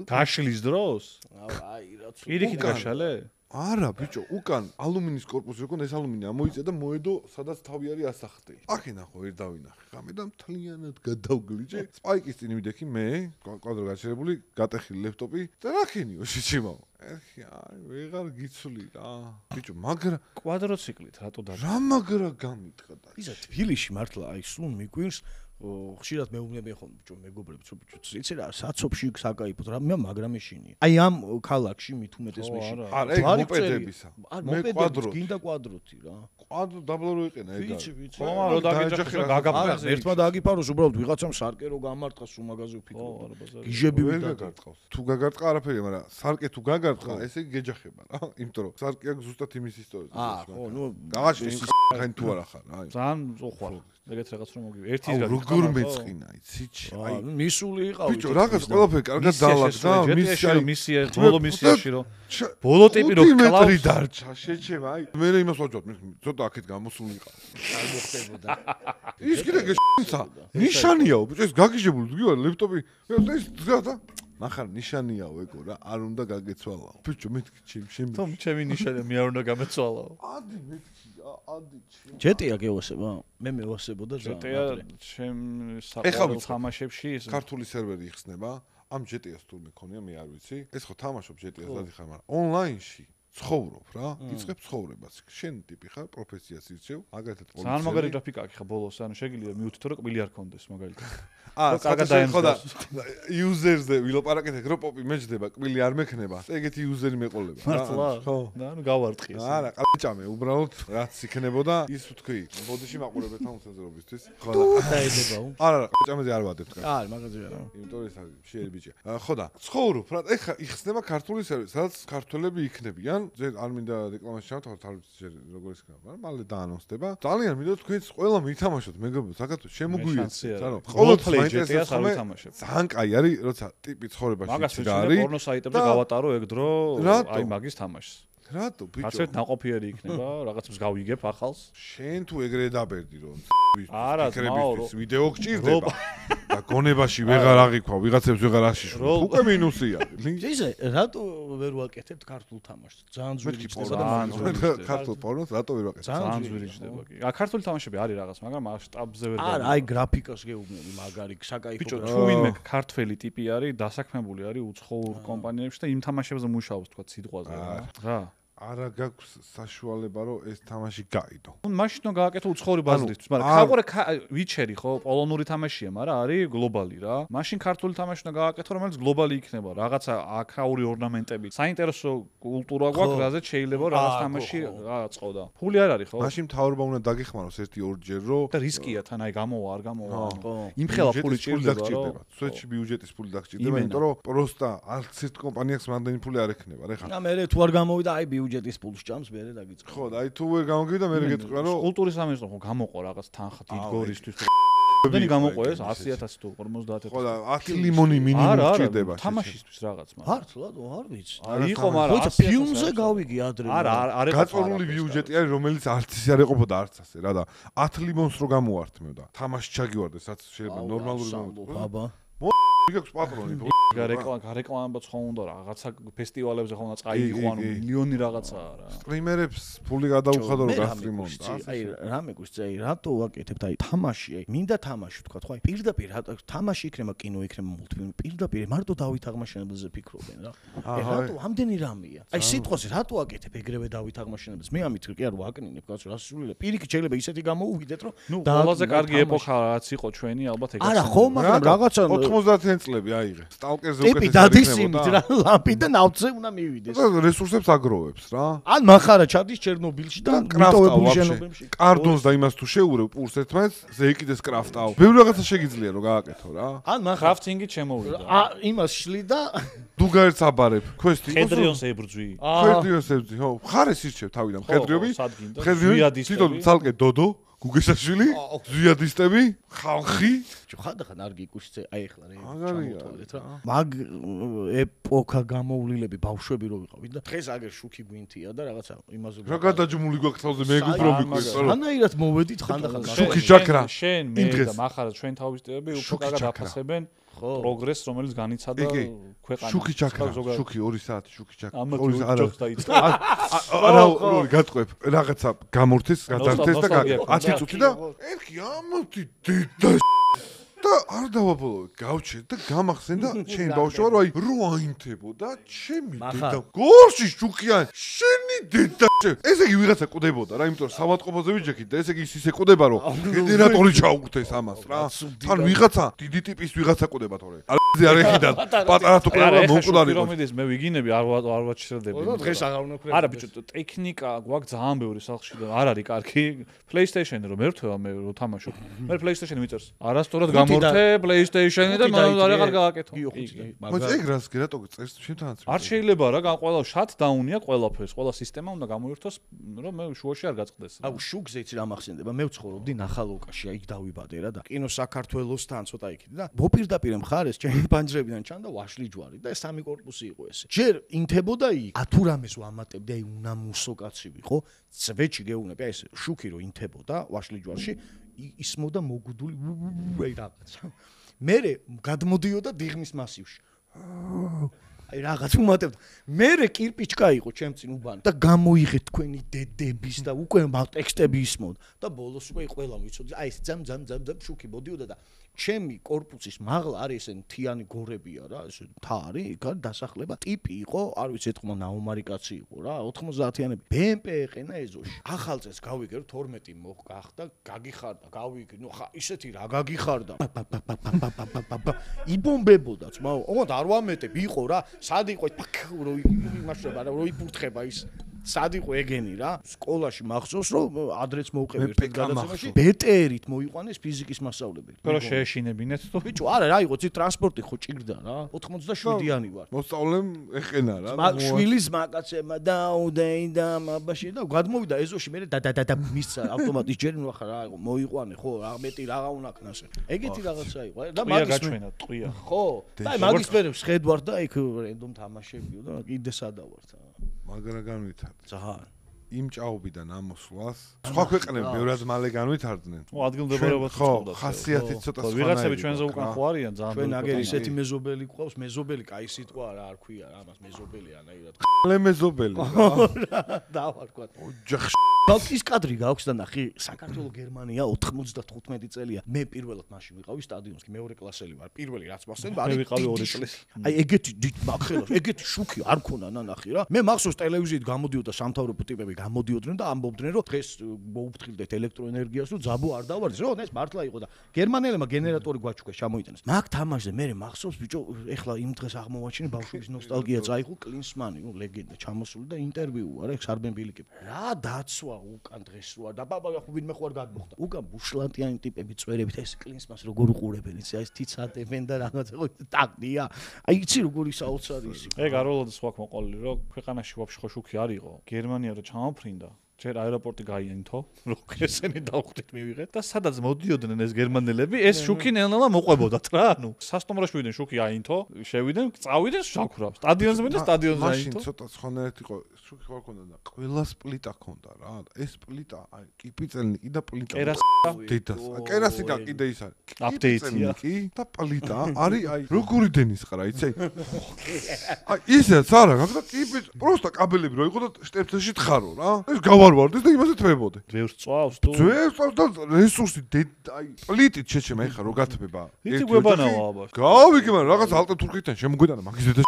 გაშლის დროს აი რა პირიქით გაშალე არა ბიჭო უკან ალუმინის корпуსი როკონ ეს ალუმინი ამოიწია და მოედო სადაც თავი არის ასახტი აქ ნახო ვერ დავინახე ხამე და მთლიანად გადავგლიჯე სპაიკის წინ მიდექი მე კვადრო გაჩერებული გატეხილი ლეპტოპი და რაკენიო შეჩიმაო ეხი აი ვეღარ გიცვლი რა ბიჭო მაგრა კვადროციკლით რატო და რა მაგრა გამიტყდა ისა თბილისში მართლა აი სულ მიგვირს ხშირად მეუბნებიან ხოლმე ბიჭო მეგობრებს რომ ბიჭო იცი რა საცობში საკაიფოთ რა მე მაგრამ ეშინია აი ამ ქალაქში მით უმეტეს მეშინია არა ეგ მოპედებისა მე კვადროთი გინდა კვადროთი რა კვადრო დაბლა რო იყენა ეგ ვიცი ვიცი ხომ რა დაგეჯახე რა გაგაფრენზე ერთმა დააგიფაროს უბრალოდ ვიღაცამ სარკე რო გამარტყას სულ მაგაზე ვფიქრო გიჟები ვერ გაგარტყავს თუ გაგარტყა არაფერია მაგრამ სარკე თუ გაგარტყა ესე იგი გეჯახება რა იმიტომ რომ სარკე აქ ზუსტად იმის ისტორია აა ხო ნუ გაღაში ხან თუ არა ხარ აი ძალიან უხვალ ეგეთ რაღაც რომ მოგივი ერთი რა როგორ მეწყინა იცი აი მისული იყავი ბიჭო რაღაც ყველაფერი კარგად დალაგდა მისია მისია ბოლო მისიაში რომ ბოლო ტიპი რო კლავს დარჩა შეჩემა აი მე იმას ვაჯობ ცოტა აქეთ გამოსული იყავ არ მოხდებოდა ის კიდე გეშინცა ნიშანიაო ბიჭო ეს გაგიჟებული გიوار ლეპტოპი ეს და ნახარ ნიშანიაო ეგო რა არ უნდა გაგეცვალაო ბიჭო მეთქი ჩემ შემ თომ ჩემი ნიშანია მე არ უნდა გამეცვალაო ადი მეთქი ადი ჩემ ჯეტია გეოსება მე მევასებოდა ძალიან ჯეტია ჩემ საყოველთაო თამაშებში ის ქართული სერვერი იხსნება ამ ჯეტიას თუ მეკონია მე არ ვიცი ეს ხო თამაშობ ჯეტიას დადიხარ მაგრამ ონლაინში ცხოვრობ რა იწყებ ცხოვრებას შენ ტიპი ხარ პროფესიას ირჩევ მაგალითად პოლიცია ძალიან მაგარი გრაფიკა აქვს ხა ბოლოს ანუ შეგიძლია მიუთითო რომ კბილი არ კონდეს მაგალითად აა კარგად დაემხოდა იუზერზე ვილაპარაკეთ რომ პოპი მეჯდება კბილი არ მექნება ეგეთი იუზერი მეყოლება მართლა ხო და ანუ გავარტყი ეს არა ყაჭამე უბრალოდ რაც იქნებოდა ის ვთქვი ბოდიში მაყურებელთა უმცენზრობისთვის ხო დაედებაო არა არა ყაჭამეზე არ ვადებთ არა მაგაზე არა იმიტომ ეს არის შეერი ბიჭია ხო და ცხოვრობ რა ეხა იხსნება ქართული სერვერი სადაც ქართველები იქნებიან ჯერ არ მინდა რეკლამაში ჩავთავაზოთ არ ვიცი ჯერ როგორ ისქნა მაგრამ მალე დაანონსდება ძალიან მინდა თქვენს ყველა მითამაშოთ მეგობრებო საქართველოს შემოგვიეცეთ ანუ ყოველთვის ჯეტიას არ ვითამაშებ ძალიან კაი არის როცა ტიპი ცხოვრებაში მაგას ვიცი პორნო საიტებზე გავატარო ეგ დრო აი მაგის თამაშს რატო ბიჭო? რაცეთ ნაყოფიერი იქნება, რაღაც მსგავიგებ ახალს. შენ თუ ეგრე დაბერდი რომ არა, ფიქრებისთვის ვიდეო გჭირდება და გონებაში ვეღარ აღიქვა, ვიღაცებს ვეღარ აშიშვა. უკვე მინუსია. ისე რატო ვერ ვაკეთებთ ქართულ თამაშს? ძალიან ძვირი ხდება და ძალიან ქართულ პორნოს რატო ვერ ვაკეთებ? ძალიან ძვირი ხდება კი. ა ქართული თამაშები არის რაღაც, მაგრამ მასშტაბზე ვერ არა, აი გრაფიკას გეუბნები მაგარი საკაიფო. ბიჭო, თუ ვინმე ქართველი ტიპი არის, დასაქმებული არის უცხოურ კომპანიებში და იმ თამაშებზე მუშაობს თქვა სიტყვაზე რა. რა. არა გაქვს საშუალება რომ ეს თამაში გაიდო. ნუ მაშინ უნდა გააკეთო უცხოური ბაზისისთვის, მაგრამ ქაყურე ვიჩერი ხო, პოლონური თამაშია, მაგრამ არის გლობალი რა. მაშინ ქართული თამაში უნდა გააკეთო, რომელიც გლობალი იქნება, რაღაცა აქაური ორნამენტები. საინტერესო კულტურა გვაქვს, რაზეც შეიძლება რაღაც თამაში გააწყო. ფული არ არის ხო? მაშინ მთავრობა უნდა დაგეხმაროს ერთი ორჯერ რომ და რისკია თან აი გამოვა არ გამოვა. იმ ხელა ფული ჭირდება რომ სვეტში ბიუჯეტის ფული დაგჭირდება, იმიტომ რომ პროსტა არც ერთ კომპანიას მანდენი ფული არ ექნება, რა ხა. და მე თუ არ გამოვიდა აი ბიუჯეტის პულს ჭამს მე დაგიწყო. ხო, და აი თუ ვერ გამოგივიდა მე გეტყვი რომ კულტურის სამინისტრო ხო გამოყო რაღაც თანხა დიდგორისთვის. დენი გამოყო ეს ასი ათასი თუ ორმოცდაათი. ხო და ათი ლიმონი მინიმუმ ჭირდება. თამაშისთვის რაღაც მაგრამ. მართლად არ ვიცი. იყო მაგრამ ხო ფილმზე გავიგი ადრე. არა არ იყო. გაწოლული ბიუჯეტი არის რომელიც არც ისე არ ეყოფოდა არც ასე რა და ათი ლიმონს რო გამოვართმევ და თამაში ჩაგივარდეს რაც შეიძლება ნორმალური მომენტი. აბა. მიგაქვს პატრონი თუ გარეკლამ გარეკლამებაც ხო უნდა რაღაცა ფესტივალებზე ხო უნდა წაიგო ანუ მილიონი რაღაცაა რა. სტრიმერებს ფული გადაუხადო რომ გასტრიმონდა. აი რამე გუშინ აი რატო ვაკეთებთ აი თამაში აი მინდა თამაში თქვა ხო აი პირდაპირ თამაში იქნება კინო იქნება მულტფილმი პირდაპირ მარტო დავით აღმაშენებელზე ფიქრობენ რა. აი რატო ამდენი რამეა. აი სიტყვაზე რატო ვაკეთებ ეგრევე დავით აღმაშენებელს მე ამით კი არ ვაკნინებ კაცო რა სულია. პირიქით შეიძლება ისეთი გამოუვიდეთ რომ ნუ ყველაზე კარგი ეპოქა რაც იყო ჩვენი ალბათ ეგეც. არა ხო მაგრამ რაღაცა ოთხმოცდაათი წლები აიღე. სტალკერზე უკეთეს დადისიმით რა ლამპი და ნავთზე უნდა მივიდეს. რესურსებს აგროვებს რა. ან მახარა ჩადის ჩერნობილში და მიტოვებული შენობებში. კარდონს და იმას თუ შეურევ პურს ერთმანეთს, ზეიკიდეს კრაფტავ. ბევრი რაღაცა შეგიძლია რომ გააკეთო რა. ან მახარა კრაფტინგით შემოვიდა. ა იმას შლი და დუგაერts აბარებ. ქვესტი იყო. ხედრიონს ებრძვი. ხედრიონს ებრძვი, ხო. ხარეს ირჩევ თავიდან. ხედრიობი. ხედრიობი. თვითონ ცალკე დოდო. გუგეშაშვილი, ზვიადისტები, ხალხი. ხანდახან არ გიკუშცე, აი ახლა რე. მაგარია რა. მაგ ეპოქა გამოვლილები ბავშვები რო ვიყავით და დღეს აგერ შუქი გვინთია და რაღაცა იმაზე. რა გადაჯმული გვაქვს თავზე მე გიბრობიქვი. ხანაირად მოვედით ხანდახან. შუქი ჯაკრა. შენ მე და მახარა ჩვენ თავისტები უფრო კარგად აფასებენ. პროგრესს რომელიც განიცადა ქვეყანაში. შუქი ჯაკრა, შუქი ორი საათი შუქი ჯაკრა. ორი საათი. არა, ორი გატყვებ, რაღაცა გამორთეს, გადართეს და ათი წუთი და ერთი ამოთი დედა და არ დავაბოლოვე, გავჩერდ და გამახსენ და ჩემი ბავშვობა რომ აი რო აინთებოდა ჩემი დედა. გორში შუქიან, შენი დედა. ესე იგი ვიღაცა კვდებოდა რა, იმიტომ რომ სამატყოფოზე ვიჯექით და ესე იგი ის ისე კვდება რომ გენერატორი ჩაუგდეს ამას რა. თან ვიღაცა დიდი ტიპის ვიღაცა კვდება თორე. ზე არ ეხიდა პატარა თუ კვდება მომკვდარი. პირამიდის მე ვიგინები არ არ ვაჩერდები. დღეს აღარ უნდა კვდება. არა ბიჭო, ტექნიკა გვაქვს ძალიან ბევრი სახში და არ არის კარგი. PlayStation-ი რომ ერთვება მე რო თამაშობ. მე PlayStation-ი მიწერს. არასწორად გამორთე PlayStation-ი და მან არ აღარ გააკეთო. მაგრამ ეგ რას კი რატო წერს შენთანაც? არ შეიძლება რა, ყველა shutdown-ია ყველაფერს, ყველა სისტემა უნდა გამოირთოს, რომ მე შუაში არ გაწყდეს. აუ შუქზე იცი რა მახსენდება? მე ვცხოვრობდი ნახალოკაში, აი დავიბადე რა და კინო საქართველოსთან ცოტა იქით და მოპირდაპირე მხარეს ჩემი პანჯრებიდან ჩანდა ვაშლი ჯვარი და სამი კორპუსი იყო ესე. ჯერ ინთებოდა იქ, ათუ რამეს ვამატებდი, აი უნამუსო კაცი ვიყო, წვეჩი გეუნები, აი ეს შუქი რო ინთებოდა ვაშლი ჯვარში, ისმოდა მოგუდული აი რაღაცა. მერე გადმოდიოდა დიღმის მასივში. აი რაღაც უმატებდა. მერე კირპიჩკა იყო ჩემ წინ უბანი და გამოიღეთ თქვენი დედების და უკვე ტექსტები ისმოდა და ბოლოს უკვე ყველა ვიცოდი. აი ეს ძამ ძამ ძამ ძამ შუქი მოდიოდა და ჩემი კორპუსის მაღლა არის ესენი თიანი გორებია რა, ეს თა არის, იქ არის დასახლება. ტიპი იყო, არ ვიცი, ეთქმა ნაუმარი კაცი იყო რა, ოთხმოცდაათიანები. ბე ემ პე ეყენა ეზოში. ახალ წელს გავიგე რომ თორმეტი მოხდა, გაგიხარდა, გავიგე, ნუ ხა ისეთი რა გაგიხარდა. იბომბებოდა, ძმაო. ოღონდ არ ვამეტებ, იყო რა, სად იყო რო იმაშრება რა, რო იფურთხება ის. სად იყო ეგენი რა? სკოლაში მახსოვს რომ ადრეც მოვყევი ერთ გადაცემაში. ბეტერით მოიყვანეს ფიზიკის მასწავლებელი. რო შეეშინებინეთ თუ ბიჭო, არა რა იყო, ცი ტრანსპორტი ხო ჭირდა რა. ოთხმოცდაშვიდიანი ვარ. მოსწავლემ ეყენა რა. მაგ შვილის მაკაცემა დაუდეი და მაბაში და გადმოვიდა ეზოში მე და და და მისცა ავტომატის ჯერი ნუ ახლა რა იყო, მოიყვანე ხო, რა მეტი რა გაუნაკნასე. ეგეთი რაღაცა იყო და მაგის გაჩვენა ტყვია. ხო. და მაგის მერე შედვარ და იქ რენდომ თამაშებიო და კიდე სადავართ. მაგრა განვითარდა. ძალიან. იმ ჭაობიდან ამოსვლას სხვა ქვეყნები ბევრად მალე განვითარდნენ. ო ადგილმდებარეობაც ხო, უწყობდა. ხასიათით ცოტა სხვა. ვიღაცები ჩვენზე უკან ხო არიან ძალიან. ჩვენ აგერ ისეთი მეზობელი გვყავს, მეზობელი კაი სიტყვა არა არ ქვია, ამას მეზობელი ანაირად. ლემეზობელი. დავარქვათ. ოჯახ ბავშვის კადრი გაქვს და ნახი, საქართველოს გერმანია ოთხმოცდათხუთმეტი წელია. მე პირველად მაშინ ვიყავი სტადიონში, მეორე კლასელი ვარ. პირველი რაც მასწავლე, მე ვიყავი ორი წლის. აი ეგეთი დიდ მაგხელას, ეგეთი შუქი არ ქონა ნანახი რა. მე მახსოვს ტელევიზიით გამოდიოდა სამთავრობო ტიპები გამოდიოდნენ და ამბობდნენ რომ დღეს მოუფრთხილდეთ ელექტროენერგიას თუ ძაბო არ დავარდეს. რო ეს მართლა იყო და გერმანელებმა გენერატორი გვაჩუქეს ჩამოიტანეს. მაგ თამაშზე მე მახსოვს ბიჭო, ეხლა იმ დღეს აღმოვაჩინე ბავშვობის ნოსტალგია წაიღო კლინსმანი, ნუ ლეგენდა ჩამოსული და ინტერვიუ არა, სარბენ ბილიკები. რა დაცვა უკან დღეს როა და ბაბა ხო ვინმე ხო არ გადმოხდა. უკან ბუშლანტიანი ტიპები წვერებით ეს კლინსმას როგორ უყურებენ, იცი აი ეს თიცატებენ და რაღაცა ხო ტაკდია. აი იცი როგორი საოცარი ის იყო. ეგ არ ველოდი სხვა მოყოლი რომ ქვეყანაში ვაფშე ხო შუქი არ იყო. გერმანია რო ჩამოფრინდა ჯერ აეროპორტი გაიენთო, რო ესენი დავხვდით მივიღეთ და სადაც მოდიოდნენ ეს გერმანელები, ეს შუქი ნელ-ნელა მოყვებოდათ რა, ანუ სასტომროში ვიდნენ შუქი აინთო, შევიდნენ, წავიდნენ შაქურავს. სტადიონზე მიდე სტადიონზე აინთო. მაშინ ცოტა სხვანაირად იყო, შუქი ხო ქონდა და ყველა პლიტა ქონდა რა. ეს პლიტა, აი, კიპიწელნი და პლიტა. კერას დედას. კერასიკა კიდე ის არის. აპდეიტია. კი და პლიტა არის აი, როგორი დენის ყრა, იცი? აი, ისეც არა, გაგდა კიპიც, პროსტა კაბელები რო იყო და შტეფლში თხარო რა. ეს გავარვარდეს და იმაზე თვებოდე. ძვერს წვავს თუ ძვერს წვავს და რესურსი აი პლიტით შეჩემა ეხა რო გათბება. იცი გვებანაო აბა. გავიგე მაგრამ რაღაც ალტა თურქეთთან შემოგვიდანა მაგის დედა.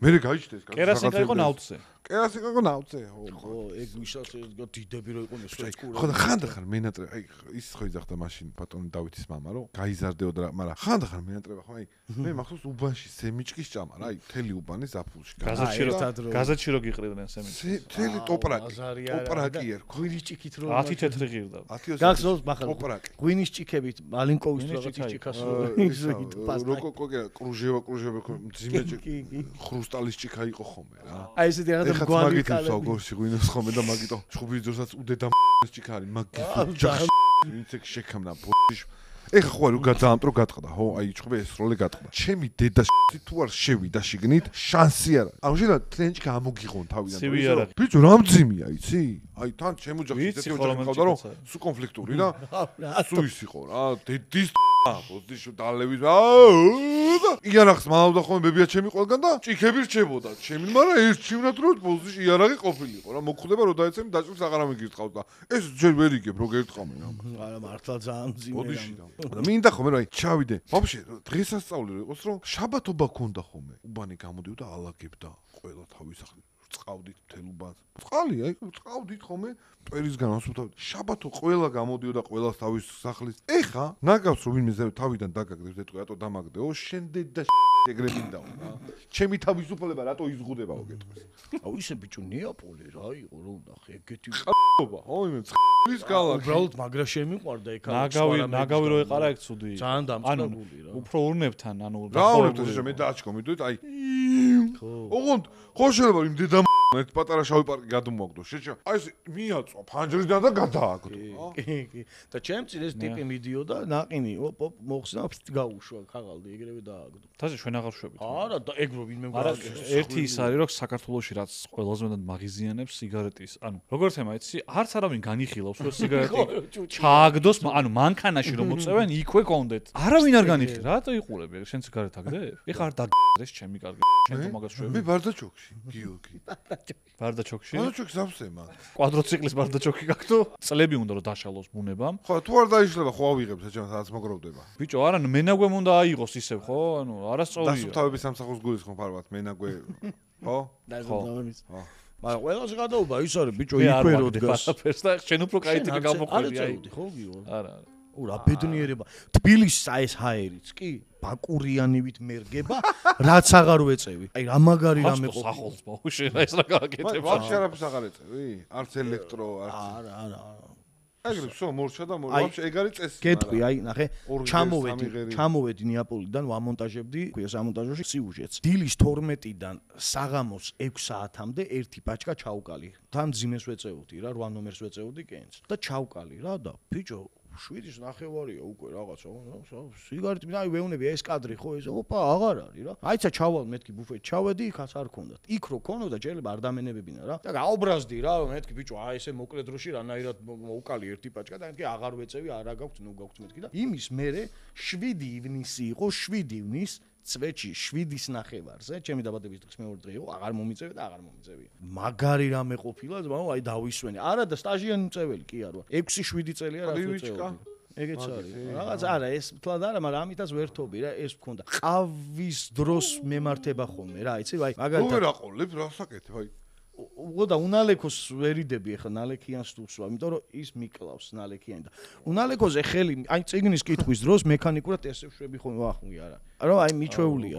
მე გაიჩნდა ეს კაცი. კერასიკა იყო ნავთზე. კერასიკა იყო ნავთზე, ხო. ხო, ეგ ვისაც დიდები რო იყო სვეცკური. ხო და ხანდახან მენატრე, აი ის ხო იძახდა მაშინ ბატონი დავითის მამა, რომ გაიზარდეოდა, მაგრამ ხანდახან მენატრება ხო, აი მე მახსოვს უბანში სემიჭკის ჭამა რა, აი თელი უბანი ზაფხულში. გაზეთში რო გაზეთში რო გიყრიდნენ სემიჭკი. თელი ტოპრაკი. ტოპრაკი არ ხო. ღვინის ჭიქით რო ათი თეთრი ღირდა. გახსოვს ბახალ ტოპრაკი. ღვინის ჭიქებით მალინკოვის რაღაც ჭიქას როკოკო კრუჟევა კრუჟევა მძიმე ხრუსტალის ჭიქა იყო ხოლმე რა. აი ესეთი რაღაცა გვარი კალები. გორში ღვინოს ხოლმე და მაგიტო ჩხუბის დროსაც უდედა ჭიქა არის მაგის ჯახ ვინც ეგ შექამნა ბოშ ეხა ხო არ გადაამტრო გატყდა ხო აი ჩხუბი ეს როლე გატყდა ჩემი დედა თუ არ შევიდა შიგნით შანსი არა ანუ შეიძლება ტრენჩკა ამოგიღონ თავიდან ბიჭო რა მძიმია იცი აი თან ჩემო ჯახი ისეთი ოჯახი ყავდა რომ სუ კონფლიქტური რა სუ ის იყო რა დედის ბოზდიშო დალევის აა იანახს მალავდა ხოლმე ბებია ჩემი ყველგან და ჭიქები რჩებოდა ჩემი მაგრამ ერთ ჩივნად რო ბოზდიში იარაღი ყოფილიყო რა მოგხვდება რომ დაეცემ დაჭრს აღარ ამიგირწყავ და ეს ჯერ ვერ იგებ რო გერტყამე რა არა მართლა ძალიან მძიმე ბოდიში და მინდა ხოლმე რომ აი ჩავიდე ვაფშე დღესასწაული რო იყოს რომ შაბათობა ქონდა ხოლმე უბანი გამოდიოდა ალაგებდა ყველა თავის ახალი წავდით თელუბად წყალი აი წავდით ხოლმე პერისგან ასუთავდით შაბათო ყველა გამოდიოდა ყველას თავის სახლის ეხა ნაგავს რომ ვინმე თავიდან დაგაგდებს ეტყვი რატო დამაგდეო შენდე და ეგრემინდაო რა ჩემი თავისუფლება რატო იზღუდებაო გეტყვის აუ ისე ბიჭო ნეაპოლი რა იყო რომ ნახე ეგეთი ყობა ხო იმე წყლის ქალაქი უბრალოდ მაგრა შემიყვარდა ეგ ნაგავი ნაგავი რო ეყარა ეგ ცუდი ძალიან დამწყებული რა უფრო ურნებთან ანუ რა ურნებთან მე დააჩქო მიდით აი ხო ოღონდ ხო შეიძლება იმ დედა ერთ პატარა შავი პარკი გადმოაგდო შეჭა აი ეს მიაწვა ფანჯრიდან და გადააგდო კი კი და ჩემც ეს ტიპი მიდიოდა ნაყინი ოპ ოპ მოხსნა გაუშვა ქაღალდი ეგრევე დააგდო თაზე ჩვენ აღარ შვებით არა და ეგ რო ვინმე არა ერთი ის არის რომ საქართველოში რაც ყველაზე მეტად მაგიზიანებს სიგარეტის ანუ როგორც ემა იცი არც არავინ განიხილავს რომ სიგარეტი ჩააგდოს ანუ მანქანაში რომ მოწევენ იქვე კონდეთ არავინ არ განიხილავს რატო იყურები შენ სიგარეტ აგდებ ეხა არ დაგდეს ჩემი კარგი შენ თუ მაგას შვები მე ბარდაჩოქში გიორგი ბარდაჩოქში ბარდაჩოქს ავსემა კვადროციკლის ბარდაჩოქი გაქვთ წლები უნდა რომ დაშალოს ბუნებამ ხო თუ არ დაიშლება ხო ავიღებ საჭამს სადაც მოგროვდება ბიჭო არა მენაგვემ უნდა აიღოს ისევ ხო ანუ არასწორია დასუფთავების სამსახურს გულისხმობ ფარვათ მენაგვე ხო დასუფთავების ხო მაგრამ ყველაზე გადაობა ის არის ბიჭო იქვე რო დგას და შენ უფრო кай ტიპი გამოყოლი აი ხო გიო არა არა ურა ბედნიერება თბილისს ეს ჰაერიც კი ბაკურიანივით მერგება რაც აღარ ვეწევი აი რა მაგარი რამე ყოფილი სახელს ბავშვი ეს რა გააკეთებს ვაფშე არაფერს აღარ ეწევი არც ელექტრო არც არა არა ეგრე всё მორჩა და ვაფშე ეგ არის წესი გეტყვი აი ნახე ჩამოვედი ჩამოვედი ნეაპოლიდან ვამონტაჟებდი ქვია სამონტაჟოში სიუჟეტს დილის თორმეტიდან საღამოს ექვს საათამდე ერთი პაჩკა ჩაუკალი თან ძიმეს ვეწეოდი რა რვა ნომერს ვეწეოდი კენს და ჩაუკალი რა და ბიჭო შვიდის ნახევარია უკვე რაღაცა, სიგარეტი, აი ვეუნები ეს კადრი ხო ეს, ოპა, აღარ არის რა. აიცა ჩავალ მეთქი ბუფეტში, ჩავედი, იქაც არ ქონდათ. იქ რო ქონოდა, შეიძლება არ დამენებებინა რა. და გაუბრაზდი რა, მეთქი ბიჭო, აი ესე მოკლე დროში რანაირად მოვკალი ერთი პაჭკა და მეთქი აღარ ვეწევი, არა გაქვს, ნუ გაქვს მეთქი და იმის მერე შვიდი ივნისი იყო, შვიდი ივნის წვეთში შვიდის ნახევარზე, ჩემი დაბადების დღის მეორე დღე იყო, აღარ მომიწევი და აღარ მომიწევია. მაგარი რამე ყოფილა, ზმაო, აი დავისვენე. არა და სტაჟიანი მწეველი კი არა. ექვსი შვიდი წელია რაც ვეწევი. ეგეც არის. რაღაც არა, ეს თლად არა, მაგრამ ამითაც ვერთობი რა, ეს მქონდა. ყავის დროს მემართება ხოლმე რა, იცი, აი, მაგალითად. ვერ აყოლებ, რა საკეთებ, აი. ოდა უნალეკოს ვერიდები ახლა ნალექიანს თუ ვსვა, იმიტომ რომ ის მიკლავს ნალექიანი და უნალეკოზე ხელი, აი წიგნის კითხვის დროს მექანიკურად ესე ვშვები ხოლმე ვახმი არა. რომ აი მიჩვეულია.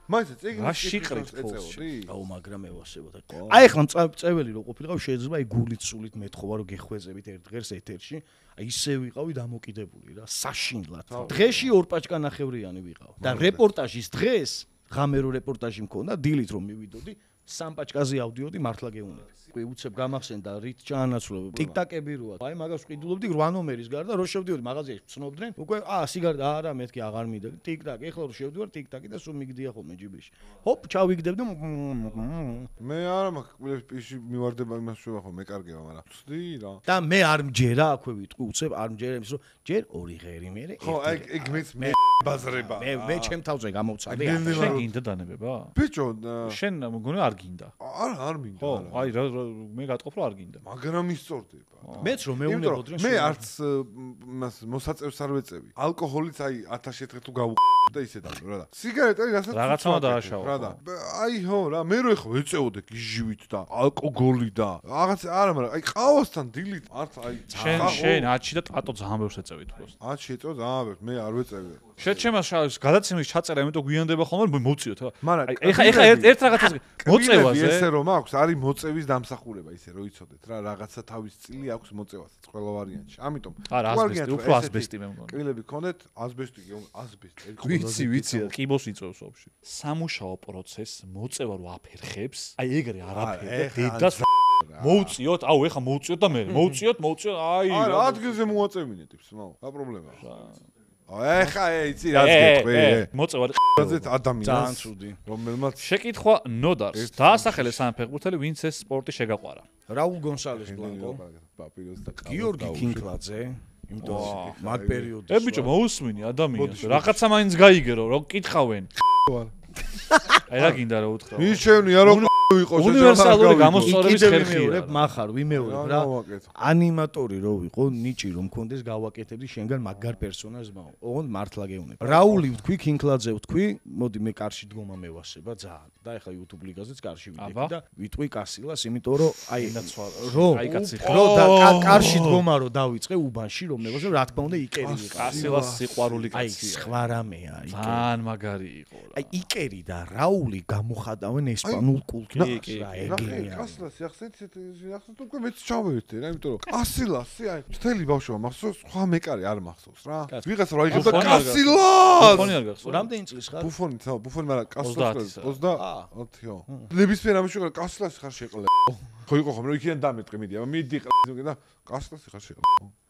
მაინც წიგნის შიყრით ეწეოდი. აუ მაგრამ ევასებოდა. აი ახლა წეველი რო ყოფილიყავ შეიძლება აი გულით სულით მეთხოვა რომ გეხვეწებით ერთ დღეს ეთერში, აი ისე ვიყავი დამოკიდებული რა, საშინლად. დღეში ორ პაჭკა ნახევრიანი ვიყავ. და რეპორტაჟის დღეს ღამე რო რეპორტაჟი მქონდა, დილით რომ მივიდოდი სამ პაჭკაზე ავდიოდი მართლა გეუნები. უკვე უცებ გამახსენდა რით ჩაანაცვლებ. ტიკტაკები როა. აი მაგას ვყიდულობდი რვა ნომერის გარდა რო შევდიოდი მაღაზიაში ცნობდნენ. უკვე აა სიგარეტა არა მეთქი აღარ მიდე. ტიკტაკი ეხლა რო შევდივარ ტიკტაკი და სულ მიგდია ხოლმე ჯიბეში. ჰოპ ჩავიგდებდი. მე არა მაგ პირში მივარდება იმას შევა ხო მეკარგება მაგრამ ვწდი რა. და მე არ მჯერა აქვე ვიტყვი უცებ არ მჯერა იმის რომ ჯერ ორი ღერი მე ხო აი ეგ მეც მე ბაზრება. მე მე ჩემ თავზე გამოვცადე. შენ გინდა დანებება? ბიჭო შენ მგონი არ გინდა. არა არ მინდა. ხო, აი რა მე გატყობ რომ არ გინდა. მაგრამ ისწორდება. მეც რომ მეუნებოდნენ მე არც მას მოსაწევს არ ვეწევი. ალკოჰოლიც აი ათასი ერთხელ თუ გავუყ და ისე დაგო რა და. სიგარეტა რასაც რაღაცამა დააშავა. რა და. აი ხო რა მე რო ეხო ეწეოდე გიჟივით და ალკოგოლი და რაღაც არა მაგრამ აი ყავასთან დილით არც აი შენ შენ ათში და ტატო ძალიან ბევრს ეწევით უბრალოდ. ათში ეწეო ძალიან ბევრს მე არ ვეწევი. შენ ჩემას გადაცემის ჩაწერა იმიტომ გვიანდება ხოლმე მოვწიოთ რა. მაგრამ ეხა ეხა ერთ რაღაცას მოწევაზე ესე რომ აქვს არის მოწევის დამსახურება ისე რომ იცოდეთ რა რაღაცა თავის წილი აქვს მოწევასაც ყველა ვარიანტში. ამიტომ არა ასბესტი, უფრო ასბესტი მე მგონი. კბილები ქონდეთ, ასბესტი კი ასბესტი. ვიცი, ვიცი, ყიბოს იწევს ოფში. სამუშაო პროცესს მოწევა რო აფერხებს, აი ეგრე არაფერი დედას მოუწიოთ, აუ ეხა მოუწიოთ და მე მოუწიოთ, მოუწიოთ, აი არა ადგილზე მოაწევინე ტიპს, მაო, რა პრობლემაა. ეხა იცი რაც გეტყვი მოწევა რაზეც ადამიანს ძალიან ცუდი რომელმაც შეკითხვა ნოდარს დაასახელე სამ ფეხბურთელი ვინც ეს სპორტი შეგაყვარა რაულ გონსალეს ბლანკო პაპიროს და გიორგი კინკლაძე იმიტომ მაგ პერიოდში ე ბიჭო მოусმინი ადამიანს რაღაცა მაინც გაიგერო რომ კითხავენ აი რა გინდა რა უთხრა მიშევნია რომ ვიყო უნივერსალური გამოსწორების ხერხია მახარ ვიმეორებ რა ანიმატორი რო ვიყო ნიჭი რომ მქონდეს გავაკეთებდი შენგან მაგარ პერსონაჟს მაო ოღონდ მართლა გეუნებ რაული ვთქვი კინკლაძე ვთქვი მოდი მე კარში დგომა მევასება ძალიან და ეხლა YouTube ლიგაზეც კარში ვიდექი და ვიტყვი კასილას იმიტომ რომ აი რო აი კაცი რო და კარში დგომა რო დავიწყე უბანში რომ მევასებ რა თქმა უნდა იკერი ვიყავ კასილას სიყვარული კაცია აი სხვა რამეა იკერი ძალიან მაგარი იყო რა აი იკერი და რაული გამოხადავენ ესპანურ კულტურას კი კი ნახე კასილასი ახსენეთ ახსენეთ უკვე მეც ჩავერთე რა იმიტომ რომ კასილასი აი მთელი ბავშვობა მახსოვს სხვა მეკარი არ მახსოვს რა ვიღაცა რა იღებდა კასილას ბუფონი არ გახსოვს რამდენი წლის ხარ ბუფონი ცა ბუფონი მაგრამ კასილას ოცდაათი-ო ნებისმიერ ამაში რა კასილასი ხარ შეყლე ხო იყო ხომ რომ იქიდან დამეტყი მიდი აბა მიდი და კასილასი ხარ შეყლე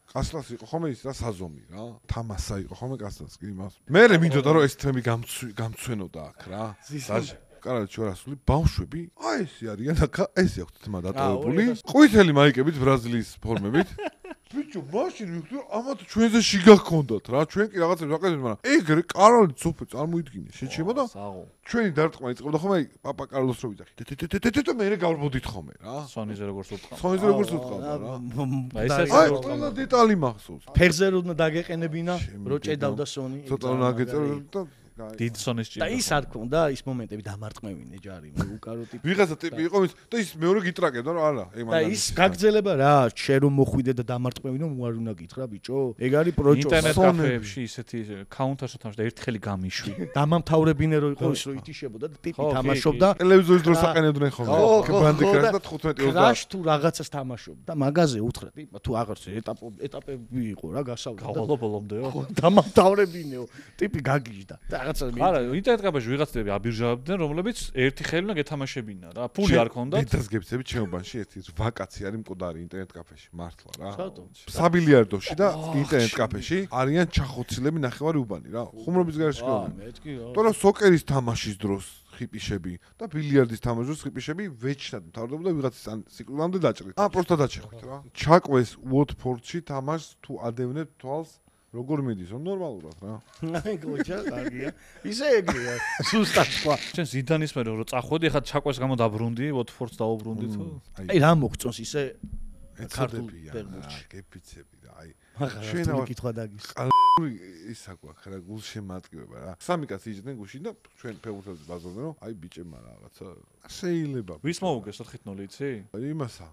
კასილასი იყო ხომ ის რა საზომი რა თამასა იყო ხომ კასილას კი მას მე მე მინდოდა რომ ეს თემი გამცვენოდა აქ რა კარაჩ ვარასული ბავშვები აი ესე არიან აქა ესე აქვთ თმა დატოვებული ყვითელი მაიკებით ბრაზილიის ფორმებით ბიჭო მაშინ ვიხდი ამათ ჩვენზე შიგა გქონდათ რა ჩვენ კი რაღაცებს ვაკეთებთ მაგრამ ეგრე კარალი ცოფე წარმოიდგინე შეჩება და ჩვენი დარტყმა იწყებდა ხომ აი პაპა კარლოს რო ვიძახი და მე მე გავრბოდით ხომ რა სონიზე როგორც უთხრა სონიზე როგორც უთხრა რა აი ეს აი ყველა დეტალი მახსოვს ფეხზე რო დაგეყენებინა რო ჭედავდა სონი ცოტა რა გეწერა და დიდ სონის ჭირდა და ის არ ქონდა ის მომენტები დამარტყმევინე ჯარი უკარო ტიპი ვიღაცა ტიპი იყო და ის მეორე გიტრაკებდა რომ არა ეგ და ის გაგძელება რა შენ რომ მოხვიდე და დამარტყმევინე უარ უნდა გითხრა ბიჭო ეგ არის პროჭო ინტერნეტ კაფეებში ისეთი ქაუნტარში თამაშობდა ერთხელი გამიშვი დამამთავრებინე რო იყო ის რო ითიშებოდა და ტიპი თამაშობდა ტელევიზორის დროს აყენებდნენ ხოლმე ბანდი კრაშ და თხუთმეტი ოცდაათი კრაშ თუ რაღაცას თამაშობდა და მაგაზე უთხრა ტიპა თუ აღარც ეტაპები იყო რა გასავლა გავალო ბოლომდეო დამამთავრებინეო ტიპი გაგიჟდა და რაღაცა არა, ინტერნეტ კაფეში ვიღაცები აბირჟავდნენ, რომლებიც ერთი ხელი უნდა გეთამაშებინა რა. ფული არ ქონდათ. დედას გებცები ჩემობაში ერთი ვაკაცი არის მკვდარი ინტერნეტ კაფეში, მართლა რა. სათო. საბილიარდოში და ინტერნეტ კაფეში არიან ჩახოცილები ნახევარი უბანი რა. ხუმრობის გარეშე აა, გეუბნები. მეთქი რა. თორემ სოკერის თამაშის დროს ხიპიშები და ბილიარდის თამაშის დროს ხიპიშები ვეჩნად მთავრდებოდა ვიღაცის ან სიკვდილამდე დაჭრით. აა, პროსტა დაჭრით რა. ჩაკვეს უოტფორდში თამაშს თუ ადევნებთ თვალს როგორ მიდის? ნორმალურად რა. აი გოჯა, კარგია. ისე ეგრეა. სუსტად თქვა. ჩვენ ზიდანის მერე რომ წახვედი, ხა ჩაკვეს გამო დაბრუნდი, ვოტფორდს დაუბრუნდი თუ. აი რა მოგწონს ისე ეცოდებია რა, გეფიცები რა. აი ჩვენ კითხვა დაგის. ყალბური ისა გვაქვს რა, გულშემატკივება რა. სამი კაცი იჯდნენ გუშინ და ჩვენ ფეხბურთელს ბაზარდნენ რომ აი ბიჭებმა რაღაცა შეიძლება. ვის მოუგეს ოთხი ნული იცი? იმასა.